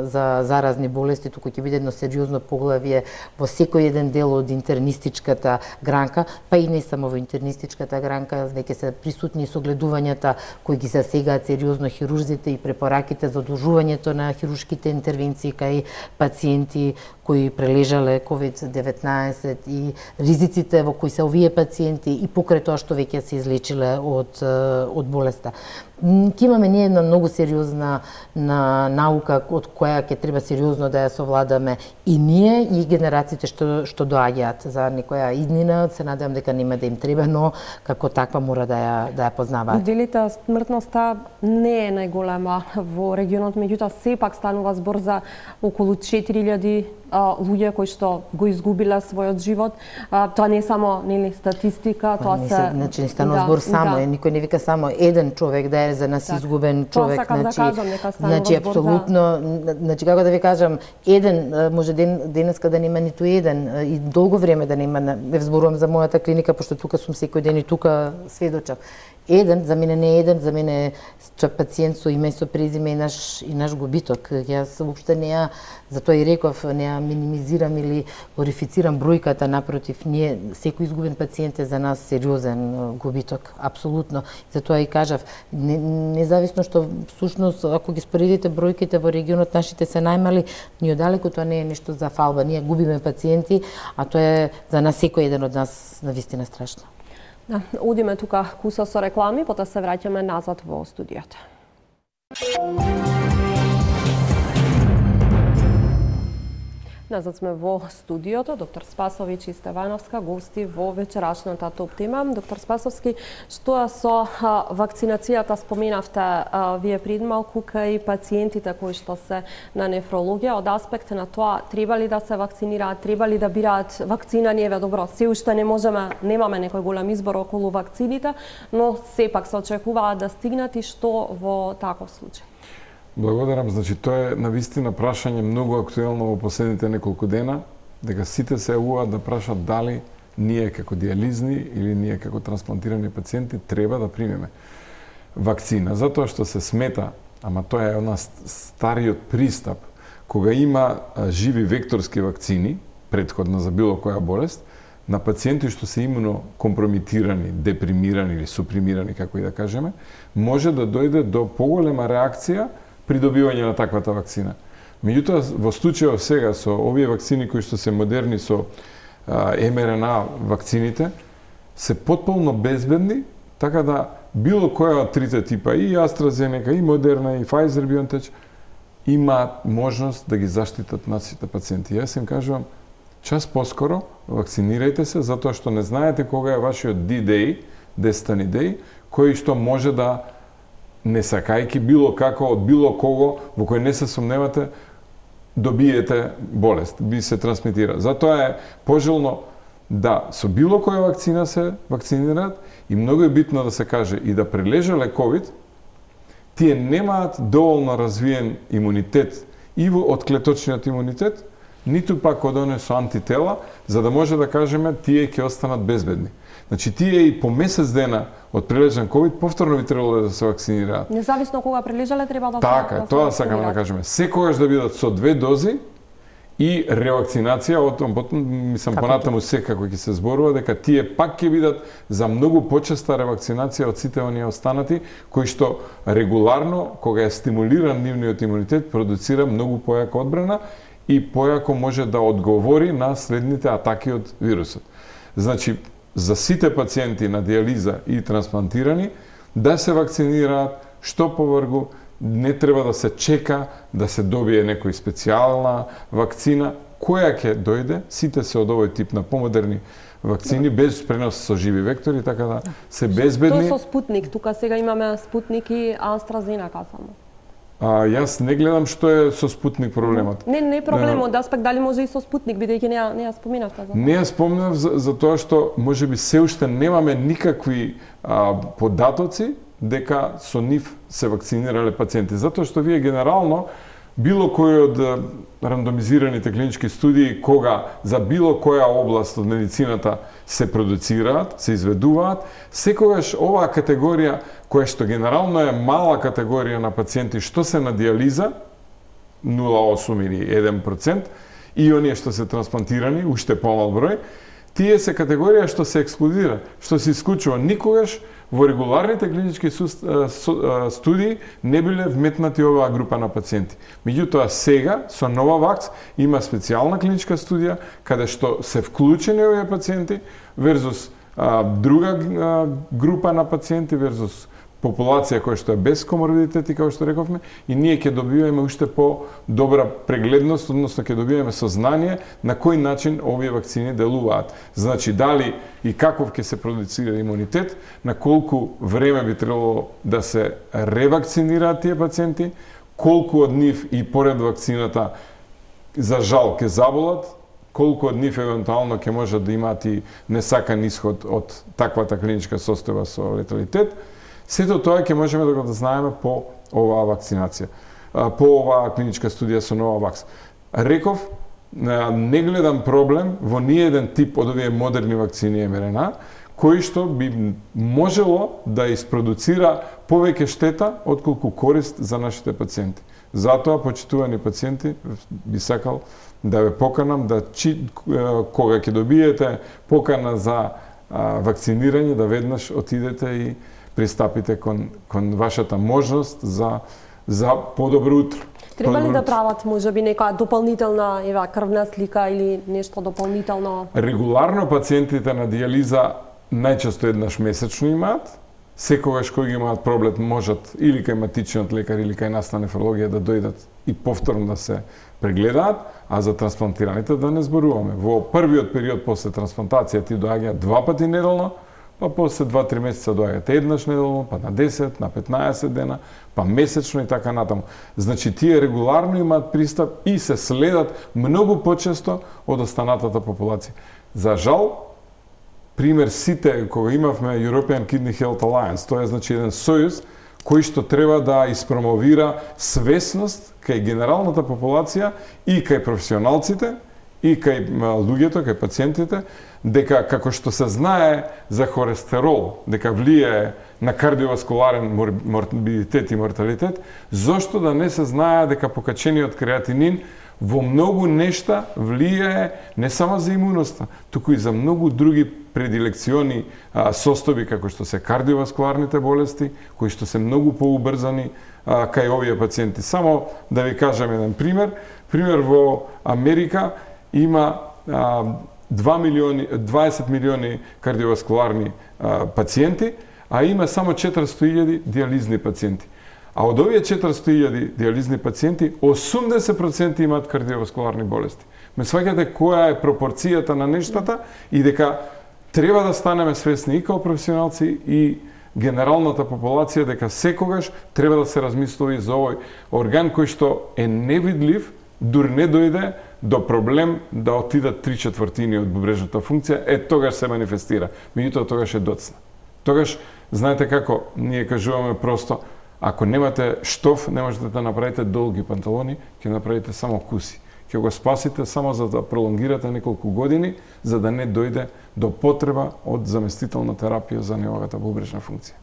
за заразни болести, туку ќе биде едно сериозно поглавје во секој еден дел од интернистичката гранка, па и не само во интернистичката гранка, веќе се присутни согледувањата кои ги засегаат сериозно хирурзите и препораките за одложувањето на хируршките интервенции кај пациенти кои прележале ковид деветнаесет и ризиците во кои се овие пациенти и покрај тоа што веќе се излечиле од од болеста. Ке имаме ние една многу сериозна на наука од која ќе треба сериозно да ја совладаме и ние и генерациите што што доаѓаат за некоја иднина, се надевам дека нема да им треба, но како таква мора да ја да ја познаваат. Делите смртноста не е најголема во регионот, меѓутоа сепак станува збор за околу четири илјади луѓе кои што го изгубиле својот живот. А, тоа не е само нели статистика, тоа се, се значи не станува да, збор само, да. Никој не вика само еден човек да е за нас так. Изгубен човек, значи да кажам, значи апсолутно, за... значи како да ви кажам, еден може ден денеска да нема ниту еден и долго време да нема, не зборувам за мојата клиника пошто тука сум секој ден и тука сведочам. Еден, за мене не е еден, за мене е пациент со име и со презиме и наш и наш губиток. Јас воопште не ја, затоа и реков, не ја минимизирам или глорифицирам бројката, напротив, ние секој изгубен пациент е за нас сериозен губиток, апсолутно. Затоа и кажав, не, независно што всушност ако ги споредите бројките во регионот нашите се најмали, ни одалеку тоа не е нешто за фалба. Ние губиме пациенти, а тоа е за нас секој еден од нас навистина страшно. Да, одиме тука куса со реклами, потоа се враќаме назад во студиото. Назад сме во студиото, доктор Спасович и Стевановска, гости во вечерашната топ тема. Доктор Спасовски, што со а, вакцинацијата споменавте а, вие пред малку кај пациентите кои што се на нефрологија, од аспект на тоа треба ли да се вакцинираат, треба ли да бираат вакцина, не е добро. Се уште не можеме, немаме некој голем избор околу вакцините, но сепак се очекуваат да стигнат и што во таков случај. Благодарам. Значи, тоа е навистина прашање многу актуелно во последните неколку дена, дека сите се јавуваат да прашат дали ние како диализни или ние како трансплантирани пациенти треба да примеме вакцина, затоа што се смета, ама тоа е една стариот пристап, кога има живи векторски вакцини, претходно за било која болест, на пациенти што се имуно компромитирани, депримирани или супримирани, како и да кажеме, може да дојде до поголема реакција при добивање на таквата вакцина. Меѓутоа, во случајот сега со овие вакцини кои што се модерни со Ем Ер Ен А вакцините, се потполно безбедни, така да било која од трите типа, и AstraZeneca, и Moderna, и Pfizer BioNTech, имаат можност да ги заштитат нашите пациенти. Јас им кажувам, час поскоро вакцинирајте се, затоа што не знаете кога е вашиот D-Day, Destiny Day, кој што може да не сакајки било како од било кого во кој не се сомневате добиете болест, би се трансмитира. Затоа е пожелно да со било која вакцина се вакцинираат и многу е битно да се каже и да прележале ковид, тие немаат доволно развиен имунитет и во од клеточниот имунитет, ниту пак од оне со антитела, за да може да кажеме тие ќе останат безбедни. Значи, тие и по месец дена од прележан ковид повторно би требало да се вакцинираат. Независно кога прележале треба да се Така, да тоа сакаме да кажеме. Секогаш да бидат со две дози и ревакцинација, отом потом мислам понатаму секако ќе се зборува дека тие пак ќе бидат за многу почеста ревакцинација од сите оние останати кои што регуларно кога е стимулиран нивниот имунитет продуцира многу појака одбрана и појако може да одговори на следните атаки од вирусот. Значи, за сите пациенти на диализа и трансплантирани да се вакцинираат што повргу, не треба да се чека да се добие некој специјална вакцина која ќе дојде, сите се од овој тип на помодерни вакцини без пренос со живи вектори, така да се безбедни. Тоа со Спутник, тука сега имаме Спутник и AstraZeneca само. А, јас не гледам што е со Спутник проблемот. Не, не е проблемот, да аспект дали може и со Спутник, бидејќи не не ја споменавте за тоа. Не ја спомнав за, за тоа што можеби се уште немаме никакви а, податоци дека со нив се вакцинирале пациенти, затоа што вие генерално било кој од рандомизираните клинички студии кога за било која област од медицината се продуцираат, се изведуваат, секогаш оваа категорија која што генерално е мала категорија на пациенти што се на диализа, нула целу осум или еден процент, и оние што се трансплантирани, уште помал број, тие се категорија што се ексклудира, што се исклучува. Никогаш во регуларните клинички студии не биле вметнати оваа група на пациенти. Меѓутоа сега со Новавакс има специјална клиничка студија каде што се вклучени овие пациенти верзус а, друга а, група на пациенти верзус популација која што е без коморбидитети, како што рековме, и ние ќе добиваме уште по-добра прегледност, односно ќе добиваме сознание на кој начин овие вакцини делуваат. Значи, дали и каков ќе се продуцира имунитет, на колку време би требало да се ревакцинираат тие пациенти, колку од нив и поред вакцината за жал ќе заболат, колку од нив евентуално ќе можат да имаат и несакан исход од таквата клиничка состојба со леталитет. Сето тоа ќе можеме да го знаеме по оваа вакцинација, по оваа клиничка студија со Новавакс. Реков, не гледам проблем во ниеден тип од овие модерни вакцини Ем Ер Ен А, кои што би можело да испродуцира повеќе штета отколку корист за нашите пациенти. Затоа, почитувани пациенти, би сакал да ве поканам да чи, кога ќе добиете покана за вакцинирање, да веднаш отидете и пристапите кон, кон вашата можност за, за подобро утро. Треба ли да прават можеби нека дополнителна ева крвна слика или нешто дополнително? Регуларно пациентите на диализа најчесто еднаш месечно имаат секогаш кој ги имаат проблем можат или кај матичниот лекар или кај нас на нефрологија да дојдат и повторно да се прегледаат, а за трансплантираните да не зборуваме. Во првиот период после трансплантација ти доаѓаат два пати неделно, па после два-три месеца доаѓаат еднаш неделно, па на десет, на петнаесет дена, па месечно и така натаму. Значи тие регуларно имаат пристап и се следат многу почесто од останатата популација. За жал, пример сите кога имавме European Kidney Health Alliance, тоа е значи еден сојуз кој што треба да испромовира свесност кај генералната популација и кај професионалците и кај луѓето, кај пациентите, дека како што се знае за холестерол, дека влијае на кардиоваскуларен морбидитет и морталитет, зошто да не се знае дека покачениот креатинин во многу нешта влијае не само за имуноста, туку и за многу други предилекциони а, состојби како што се кардиоваскуларните болести, кои што се многу поубрзани а, кај овие пациенти. Само да ви кажам еден пример. Пример во Америка има а, два милиони, дваесет милиони кардиоваскуларни а, пациенти, а има само четиристотини илјади диализни пациенти. А од овие четиристотини илјади диализни пациенти, осумдесет проценти имаат кардиоваскуларни болести. Ме сваќате која е пропорцијата на нештата и дека треба да станеме свесни и као професионалци и генералната популација дека секогаш треба да се размислува за овој орган кој што е невидлив, дури не дојде до проблем да отидат три четвртини од бубрежната функција, е тогаш се манифестира. Меѓутоа тогаш е доцна. Тогаш, знаете како, ние кажуваме просто, ако немате штоф, не можете да направите долги панталони, ќе направите само куси. Ќе го спасите само за да пролонгирате неколку години, за да не дојде до потреба од заместителна терапија за неговата бубрежна функција.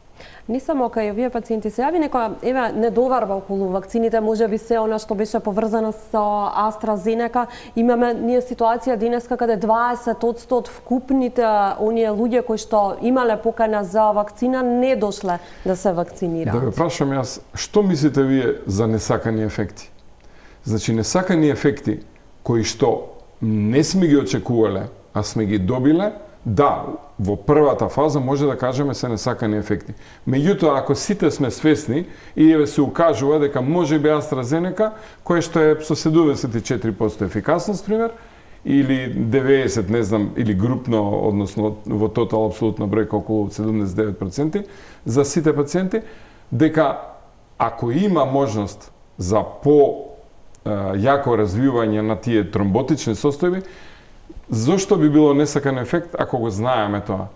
Не само кај овие пациенти се јави некоја еве недоварба околу вакцините, можеби се она што беше поврзано со AstraZeneca. Имаме ние ситуација денеска каде дваесет одсто од вкупните оние луѓе кои што имале покана за вакцина не дошле да се вакцинираат. Да ве прашам јас, што мислите вие за несакани ефекти? Значи несакани ефекти кои што не сме ги очекувале, а сме ги добиле, да, во првата фаза може да кажеме се несакани ефекти. Меѓутоа, ако сите сме свесни и еве се укажува дека може би AstraZeneca, кој што е со седумдесет и четири проценти ефикасност, пример, или деветдесет, не знам, или групно, односно во тотал апсолутна бројка околу седумдесет и девет проценти за сите пациенти, дека ако има можност за по јако развивање на тие тромботични состојби, зошто би било несакан ефект ако го знаеме тоа?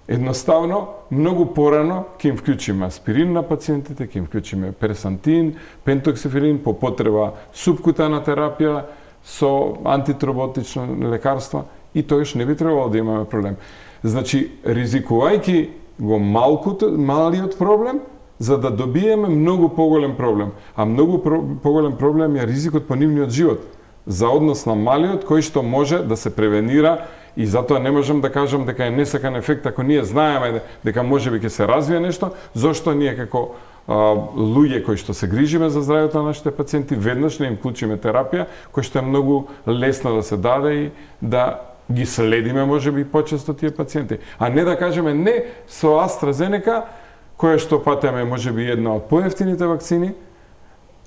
Едноставно, многу порано ќе им вклучиме аспирин на пациентите, ќе им вклучиме персантин, пентоксиферин, по потреба субкутана терапија со антитромботични лекарства и тогаш не би требало да имаме проблем. Значи, ризикувајќи го малкото, малиот проблем, за да добиеме многу поголем проблем. А многу про, поголем проблем е ризикот по нивниот живот, за однос на малиот кој што може да се превенира и затоа не можам да кажам дека е несакан ефект ако ние знаеме дека можеби ќе се развие нешто, зошто ние како а, луѓе кои што се грижиме за здравјето на нашите пациенти веднаш не им вклучиме терапија која што е многу лесна да се даде и да ги следиме можеби почесто тие пациенти, а не да кажеме не со AstraZeneca која што патеме можеби една од поевтините вакцини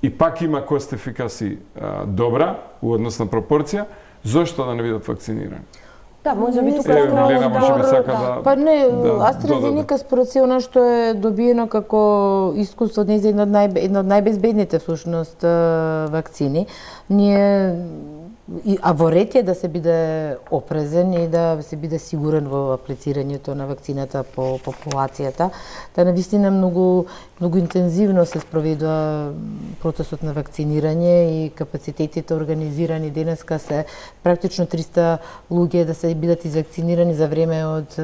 и пак има кост ефикаси а, добра у однос на пропорција, зошто да не бидат вакцинирани? Да, може би тука е Милена може би сака да. Па не, да, AstraZeneca според се она што е добиено како искуство од нејзе една од нај една од најбезбедните всушност вакцини. Ние И, а во ред е да се биде опрезен и да се биде сигурен во аплицирањето на вакцината по популацијата. Та навистина многу многу интензивно се спроведува процесот на вакцинирање и капацитетите организирани денеска се практично триста луѓе да се бидат извакцинирани за време од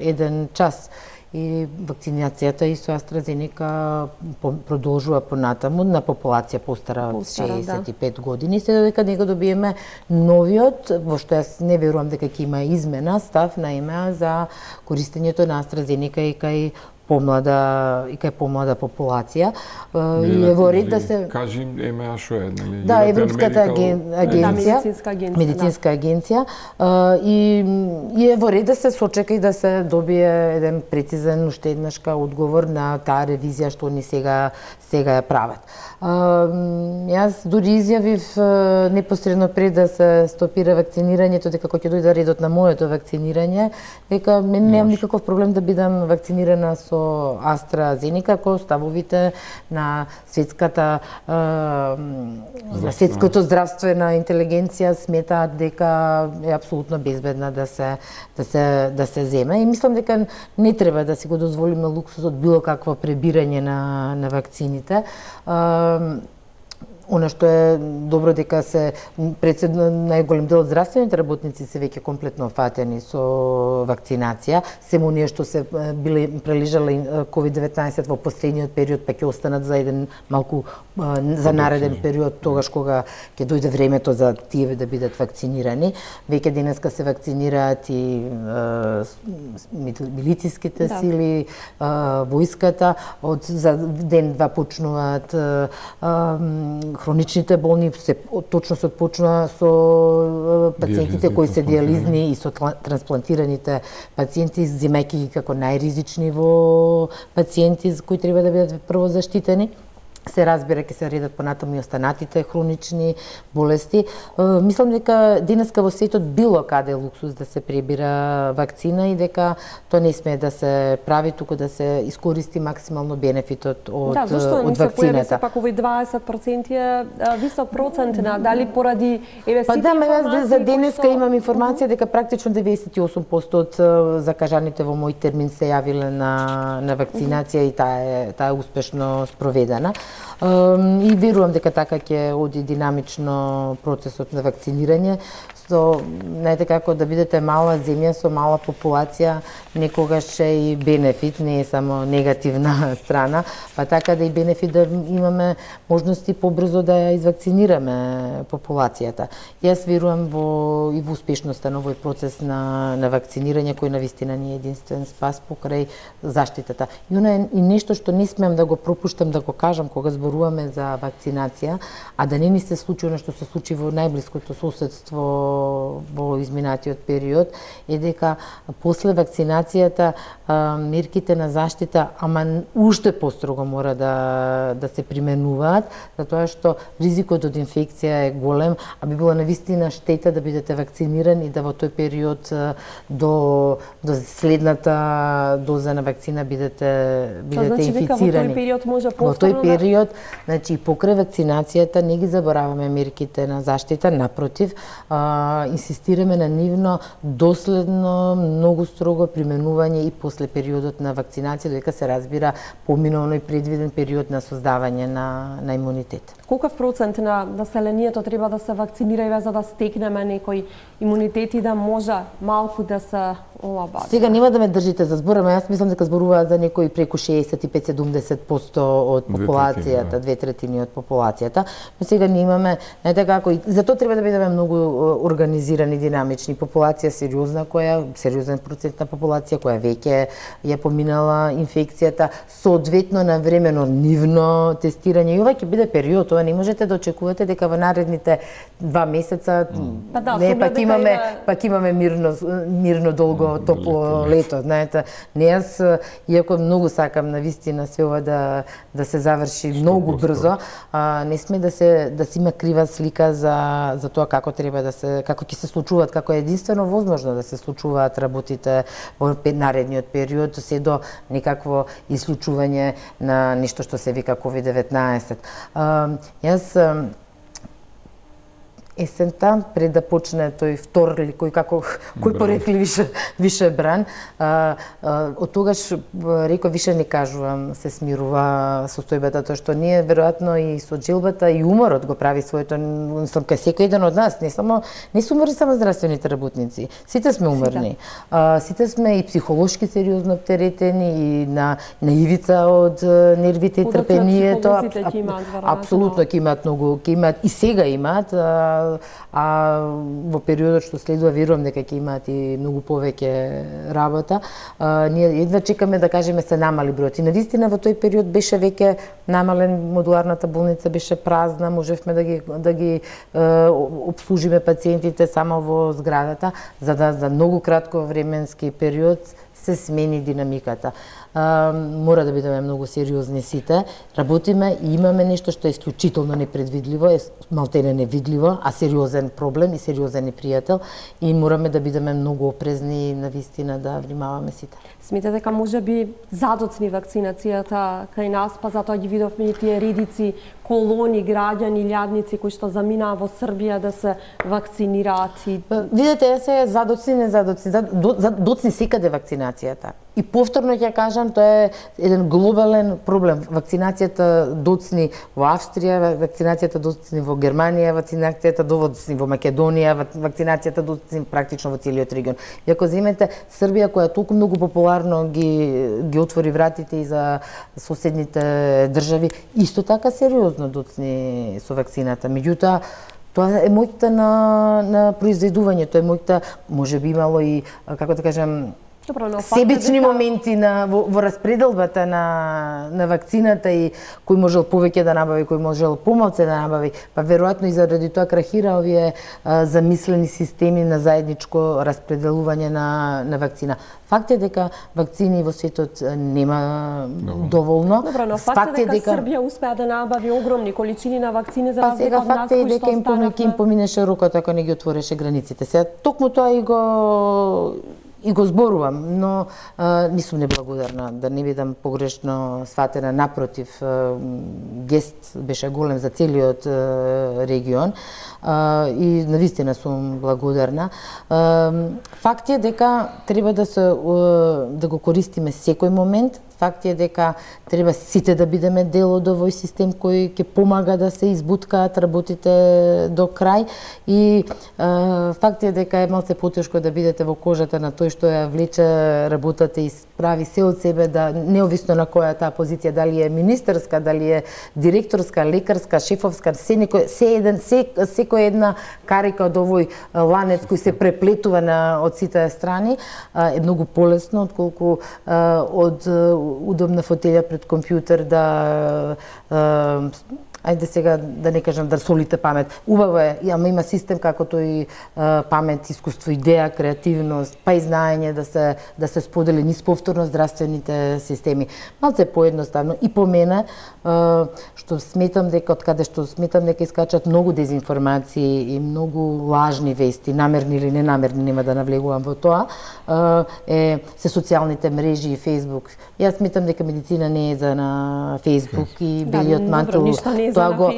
еден час. И вакцинацијата и со AstraZeneca продолжува понатаму на популација постара од шеесет и пет да. години, се додека него добиеме новиот, во што јас не верувам дека ќе има измена, став на ЕМЕА за користењето на AstraZeneca и кај помлада и кај помлада популација и е во ред да се кажи еме а што е, нели? Да, Европската аген... агенција, медицинска агенција, медицинска агенција и и е во ред да се сочека и да се добие еден прецизен уште еднашка одговор на таа ревизија што они сега сега ја прават. Јас дури изјавив непосредно пред да се стопира вакцинирањето дека кога ќе дојде редот на моето вакцинирање, дека немам никаков проблем да бидам вакцинирана со AstraZeneca, ако ставовите на светската на светското здравствена интелигенција сметаат дека е апсолутно безбедна да се да се да се земе и мислам дека не треба да си го дозволиме луксузот било какво пребирање на на вакцините. Она што е добро дека се председно најголем дел од здравствените работници се веќе комплетно фатени со вакцинација. Семо оние што се биле прележале ковид деветнаесет во последниот период па ќе останат за еден малку за нареден период тогаш кога ќе дојде времето за тие да бидат вакцинирани. Веќе денеска се вакцинираат и милициските да. сили, војската, од за ден два почнуваат хроничните болни, се точно се отпочнува со пациентите кои се диализни и со трансплантираните пациенти, земајќи ги како најризични во пациенти кои треба да бидат прво заштитени. Се разбира ќе се редат понатаму и останатите хронични болести. Мислам дека денеска во светот било каде луксуз да се пребира вакцина и дека тоа не сме да се прави, туку да се искористи максимално бенефитот од да, зашто од вакцината. Да, зашто пак овој дваесет проценти е висок процент на дали поради еве сите информации. Па да, јас за денеска имам информација дека практично деветдесет и осум проценти од закажаните во мој термин се јавиле на на вакцинација и таа е таа е успешно спроведена. И верувам дека така ќе оди динамично процесот на вакцинирање. Со, знаете како да бидете мала земја со мала популација, некогаш е и бенефит, не е само негативна страна, па така да и бенефит да имаме можности побрзо да ја извакцинираме популацијата. Јас верувам во и во успешноста на овој процес на на вакцинирање кој навистина ни е единствен спас покрај заштитата. И она е и нешто што не смеам да го пропуштам да го кажам кога зборуваме за вакцинација, а да не ни се случи она што се случи во најблиското соседство во изминатиот период, е дека после вакцинацијата мерките на заштита, ама уште построго мора да да се применуваат, затоа што ризикот од инфекција е голем, а би било навистина штета да бидете вакцинирани и да во тој период до до следната доза на вакцина бидете бидете значи, инфицирани. Во тој период може Во повторно тој период, значи покрај вакцинацијата не ги забораваме мерките на заштита, напротив, а, инсистираме на нивно доследно, многу строго применување и после периодот на вакцинација, додека се разбира помина оној предвиден период на создавање на на имунитет. Колкав процент на населението треба да се вакцинира за да стекнеме некој имунитет и да може малку да се олабави? Сега нема да ме држите за збор, ама јас мислам дека зборуваат за некои преку шеесет и пет до седумдесет проценти од популацијата, две третини од популацијата, но сега не имаме, знаете како, и затоа треба да бидеме многу организирани, динамични. Популација сериозна која, сериозен процент на популација која веќе ја поминала инфекцијата, соодветно на времено нивно тестирање. И ова ќе биде период, ова не можете да очекувате дека во наредните два месеца па да, не пак имаме пак имаме мирно мирно долго топло лето, знаете. Не јас иако многу сакам навистина се ова да да се заврши многу брзо, а, не сме да се да се има крива слика за за тоа како треба да се како ќе се случуваат, како е единствено возможно да се случуваат работите во наредниот период, се до некакво исклучување на нешто што се вика ковид деветнаесет. А, јас есента, пред да почне тој втор или кој како кој порекли више више бран, а, а, од тогаш реков више не кажувам, се смирува состојбата, тоа што ние веројатно и со джилбата и уморот го прави своето, мислам кај секој еден од нас, не само не се умори само здравствените работници. Сите сме уморни. А, сите сме и психолошки сериозно оптеретени и на на ивица од нервите и трпението. Апсолутно ќе имаат многу, ќе имаат и сега имаат а, а во периодот што следува верувам дека ќе имаат и многу повеќе работа. А, ние едва чекаме да кажеме се намали бројот. И навистина во тој период беше веќе намален, модуларната болница беше празна, можевме да ги да ги е, обслужиме пациентите само во зградата, за да за многу кратко временски период се смени динамиката. А, мора да бидеме многу сериозни сите. Работиме и имаме нешто што е исклучително непредвидливо, е малтене невидливо, а сериозен проблем и сериозен непријател и мораме да бидеме многу опрезни и навистина да внимаваме сите. Смета дека може би задоцни вакцинацијата кај нас, па затоа ги видовме и тие редици колони граѓани, лјадници кои што заминаа во Србија да се вакцинираат и... Видете, јас се задоцни, не задоцни, доцни секаде вакцинацијата. И повторно ќе кажам, тоа е еден глобален проблем. Вакцинацијата доцни во Австрија, вакцинацијата доцни во Германија, вакцинацијата доцни во Македонија, вакцинацијата доцни практично во целиот регион. И ако земете Србија, која толку многу популарно ги, ги отвори вратите и за соседните држави, исто така сериозно доцни со вакцината. Меѓутоа, тоа е мојта на, на произведување, тоа е мојта, може би имало и, како да кажам, Добро, но себични дека... моменти на во, во распределбата на на вакцината и кој можел повеќе да набави, кој можел помалку да набави, па веројатно и заради тоа крахира овие а, замислени системи на заедничко распределување на на вакцина. Факт е дека вакцини во светот нема Добро. доволно. Добро, но факт, факт е дека, дека Србија успеа да набави огромни количини на вакцини за разлика од нас, кои што останавме. Факт е дека им поминеше рокот ако не ги отвореше границите. Сега токму тоа и го и го зборувам, но а, не сум неблагодарна, да не бидам погрешно сватена, напротив, а, гест беше голем за целиот а, регион а, и навистина сум благодарна. А, факт е дека треба да се а, да го користиме секој момент. Факт е дека треба сите да бидеме дел од овој систем кој ќе помага да се избуткаат работите до крај и е, факт е дека е малце потешко да бидете во кожата на тој што ја влече работата и прави се од себе да неовисно на која таа позиција, дали е министерска, дали е директорска, лекарска, шефовска, се некој се еден се секој една карика од овој ланец кој се преплетува на од сите страни е многу полесно отколку од удобна фотелја пред компјутер да ајде сега да не кажам да солите памет. Убаво е, ама има систем како тој памет, искуство, идеја, креативност, па и знаење да се да се сподели низ повторно здравствените системи. Малце поедноставно и по мене што сметам дека од каде што сметам дека искачат многу дезинформации и многу лажни вести, намерни или ненамерни, нема да навлегувам во тоа, е се социјалните мрежи и Facebook. Јас сметам дека медицина не е за на Facebook и белиот да, мантел. Тоа го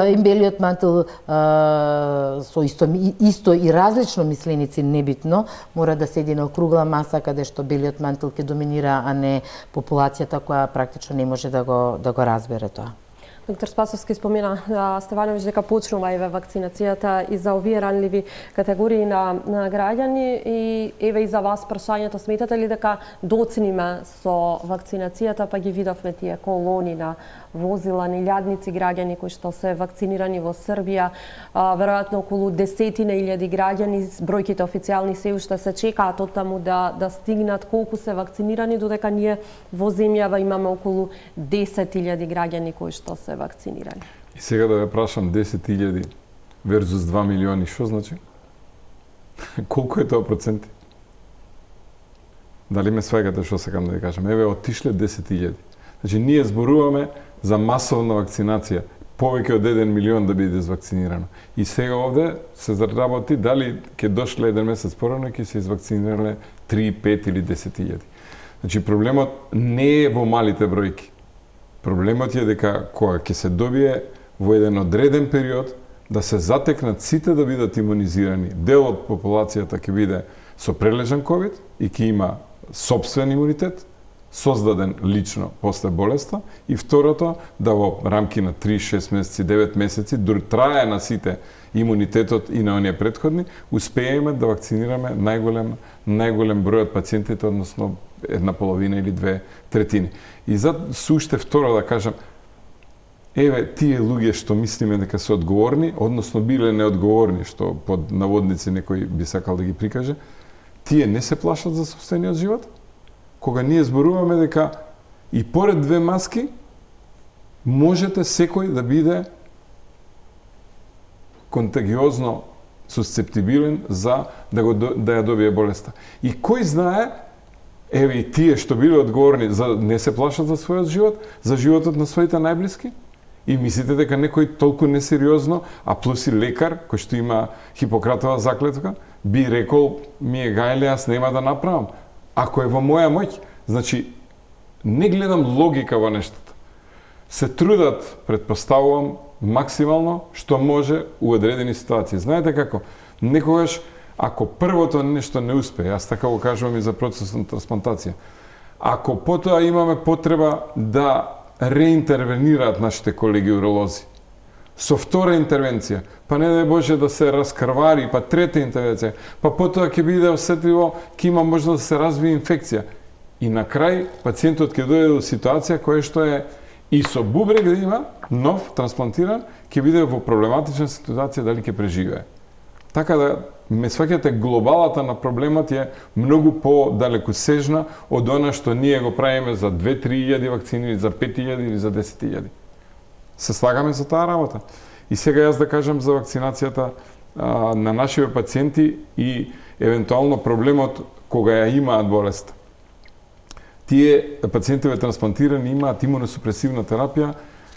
и белиот мантел со исто исто и различно мисленици небитно мора да седи на округла маса каде што белиот мантел ќе доминира, а не популацијата која практично не може да го да го разбере тоа. Доктор Спасовски спомена Стевановиќ дека почнува еве вакцинацијата и за овие ранливи категории на, на граѓани и еве и за вас прашањето, сметате ли дека доцниме со вакцинацијата, па ги видовме тие колони на возила, ни лјадници граѓани кои што се вакцинирани во Србија, а, веројатно околу десетина илјади граѓани, бројките официјални се уште се чекаат од таму да да стигнат колку се вакцинирани, додека ние во земјава имаме околу десет илјади граѓани кои што се вакцинирани. И сега да ве прашам, десет илјади верзус два милиони, што значи? Колку е тоа проценти? Дали ме сваѓате што сакам да ви кажам? Еве, отишле десет илјади. Значи, ние зборуваме за масовна вакцинација, повеќе од еден милион да биде извакцинирано. И сега овде се заработи дали ќе дошле еден месец порано ќе се извакцинирале три, пет или десет илјади. Значи, проблемот не е во малите бројки. Проблемот е дека кога ќе се добие во еден одреден период да се затекнат сите да бидат имунизирани, дел од популацијата ќе биде со прележан ковид и ќе има сопствен имунитет, создаден лично после болеста, и второто, да во рамки на три, шест месеци, девет месеци, дури трае на сите имунитетот и на оние претходни, успееме да вакцинираме најголем, најголем број од пациентите, односно една половина или две третини. И за суште второ да кажам, еве тие луѓе што мислиме дека се одговорни, односно биле неодговорни, што под наводници некој би сакал да ги прикаже, тие не се плашат за сопствениот живот? Кога ние зборуваме дека и поред две маски можете секој да биде контагиозно сусцептибилен за да го да ја добие болеста. И кој знае, еве и тие што биле одговорни, за не се плашат за својот живот, за животот на своите најблиски? И мислите дека некој толку несериозно, а плюс и лекар кој што има Хипократова заклетва, би рекол ми е гајле, јас нема да направам. Ако е во моја моќ, значи не гледам логика во нештата. Се трудат, предпоставувам, максимално што може у одредени ситуации. Знаете како? Некогаш, ако првото нешто не успее, јас така го кажувам и за процесот на трансплантација, ако потоа имаме потреба да реинтервенираат нашите колеги уролози, со втора интервенција, па не дај Боже да се раскрвари, па трета интервенција, па потоа ќе биде осетливо, ќе има можност да се развие инфекција. И на крај пациентот ќе дојде до ситуација која што е и со бубрек да има, нов, трансплантиран, ќе биде во проблематична ситуација дали ќе преживее. Така да, ме сваќате, глобалата на проблемот е многу по-далекосежна од она што ние го правиме за две-три илјади вакцини, или за пет илјади или за десет илјади. Се слагаме за таа работа. И сега јас да кажам за вакцинацијата а, на нашите пациенти и евентуално проблемот кога ја имаат болест. Тие пациентиве трансплантирани имаат имуносупресивна терапија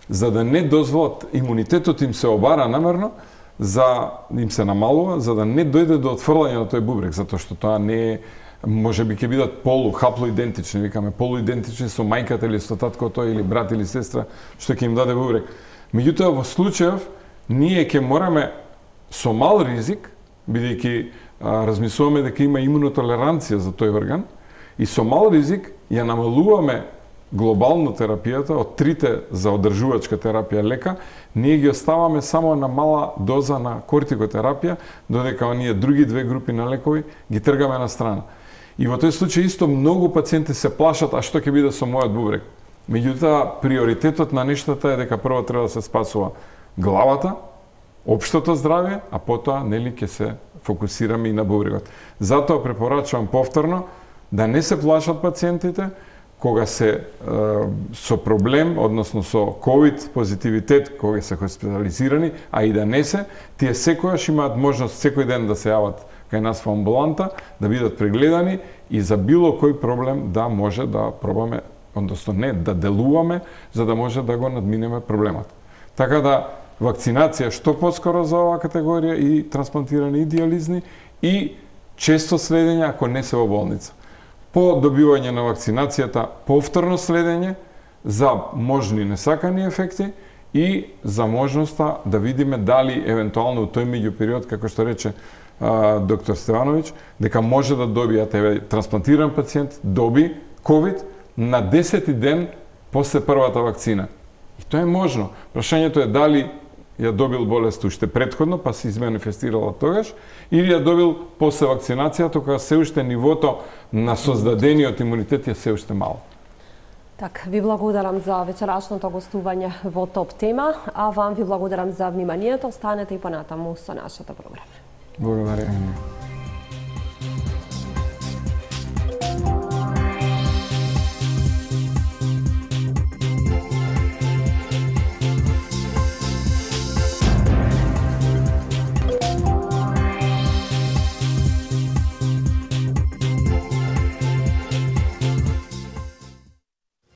за да не дозволат имунитетот им се обара намерно, за им се намалува, за да не дојде до отфрлање на тој бубрек, затоа што тоа не е, може би ќе бидат полу хаплоидентични, викаме полуидентични со мајката или со таткото или брат или сестра што ќе им даде бубрек. Меѓутоа во случајов ние ќе мораме со мал ризик, бидејќи размислуваме дека има имунотолеранција за тој орган, и со мал ризик ја намалуваме глобално терапијата од трите за одржувачка терапија лека, ние ги оставаме само на мала доза на кортикотерапија, додека оние други две групи на лекови ги тргаме на страна. И во тој случај исто многу пациенти се плашат, а што ќе биде со мојот бубрек? Меѓутоа, приоритетот на нештата е дека прво треба да се спасува главата, општото здравје, а потоа нели ќе се фокусираме и на бубрегот. Затоа препорачувам повторно да не се плашат пациентите кога се е, со проблем, односно со ковид позитивитет, кога се хоспитализирани, а и да не се, тие секојаш имаат можност секој ден да се јават кај нас во амбуланта, да бидат прегледани и за било кој проблем да може да пробаме, односно не, да делуваме, за да може да го надминеме проблемот. Така да, вакцинација што поскоро за оваа категорија и трансплантирани и диализни и често следење ако не се во болница. По добивање на вакцинацијата повторно следење за можни несакани ефекти и за можноста да видиме дали евентуално у тој меѓупериод, како што рече а, доктор Стевановиќ, дека може да добијат, еве, трансплантиран пациент доби ковид на десети ден после првата вакцина. И тоа е можно. Прашањето е дали ја добил болест уште претходно, па се изманифестирала тогаш, или ја добил после вакцинацијата, кога се уште нивото на создадениот имунитет е се уште мало. Так, ви благодарам за вечерашното гостување во Топ тема, а вам ви благодарам за вниманието. Останете и понатаму со нашата програма. Благодарам.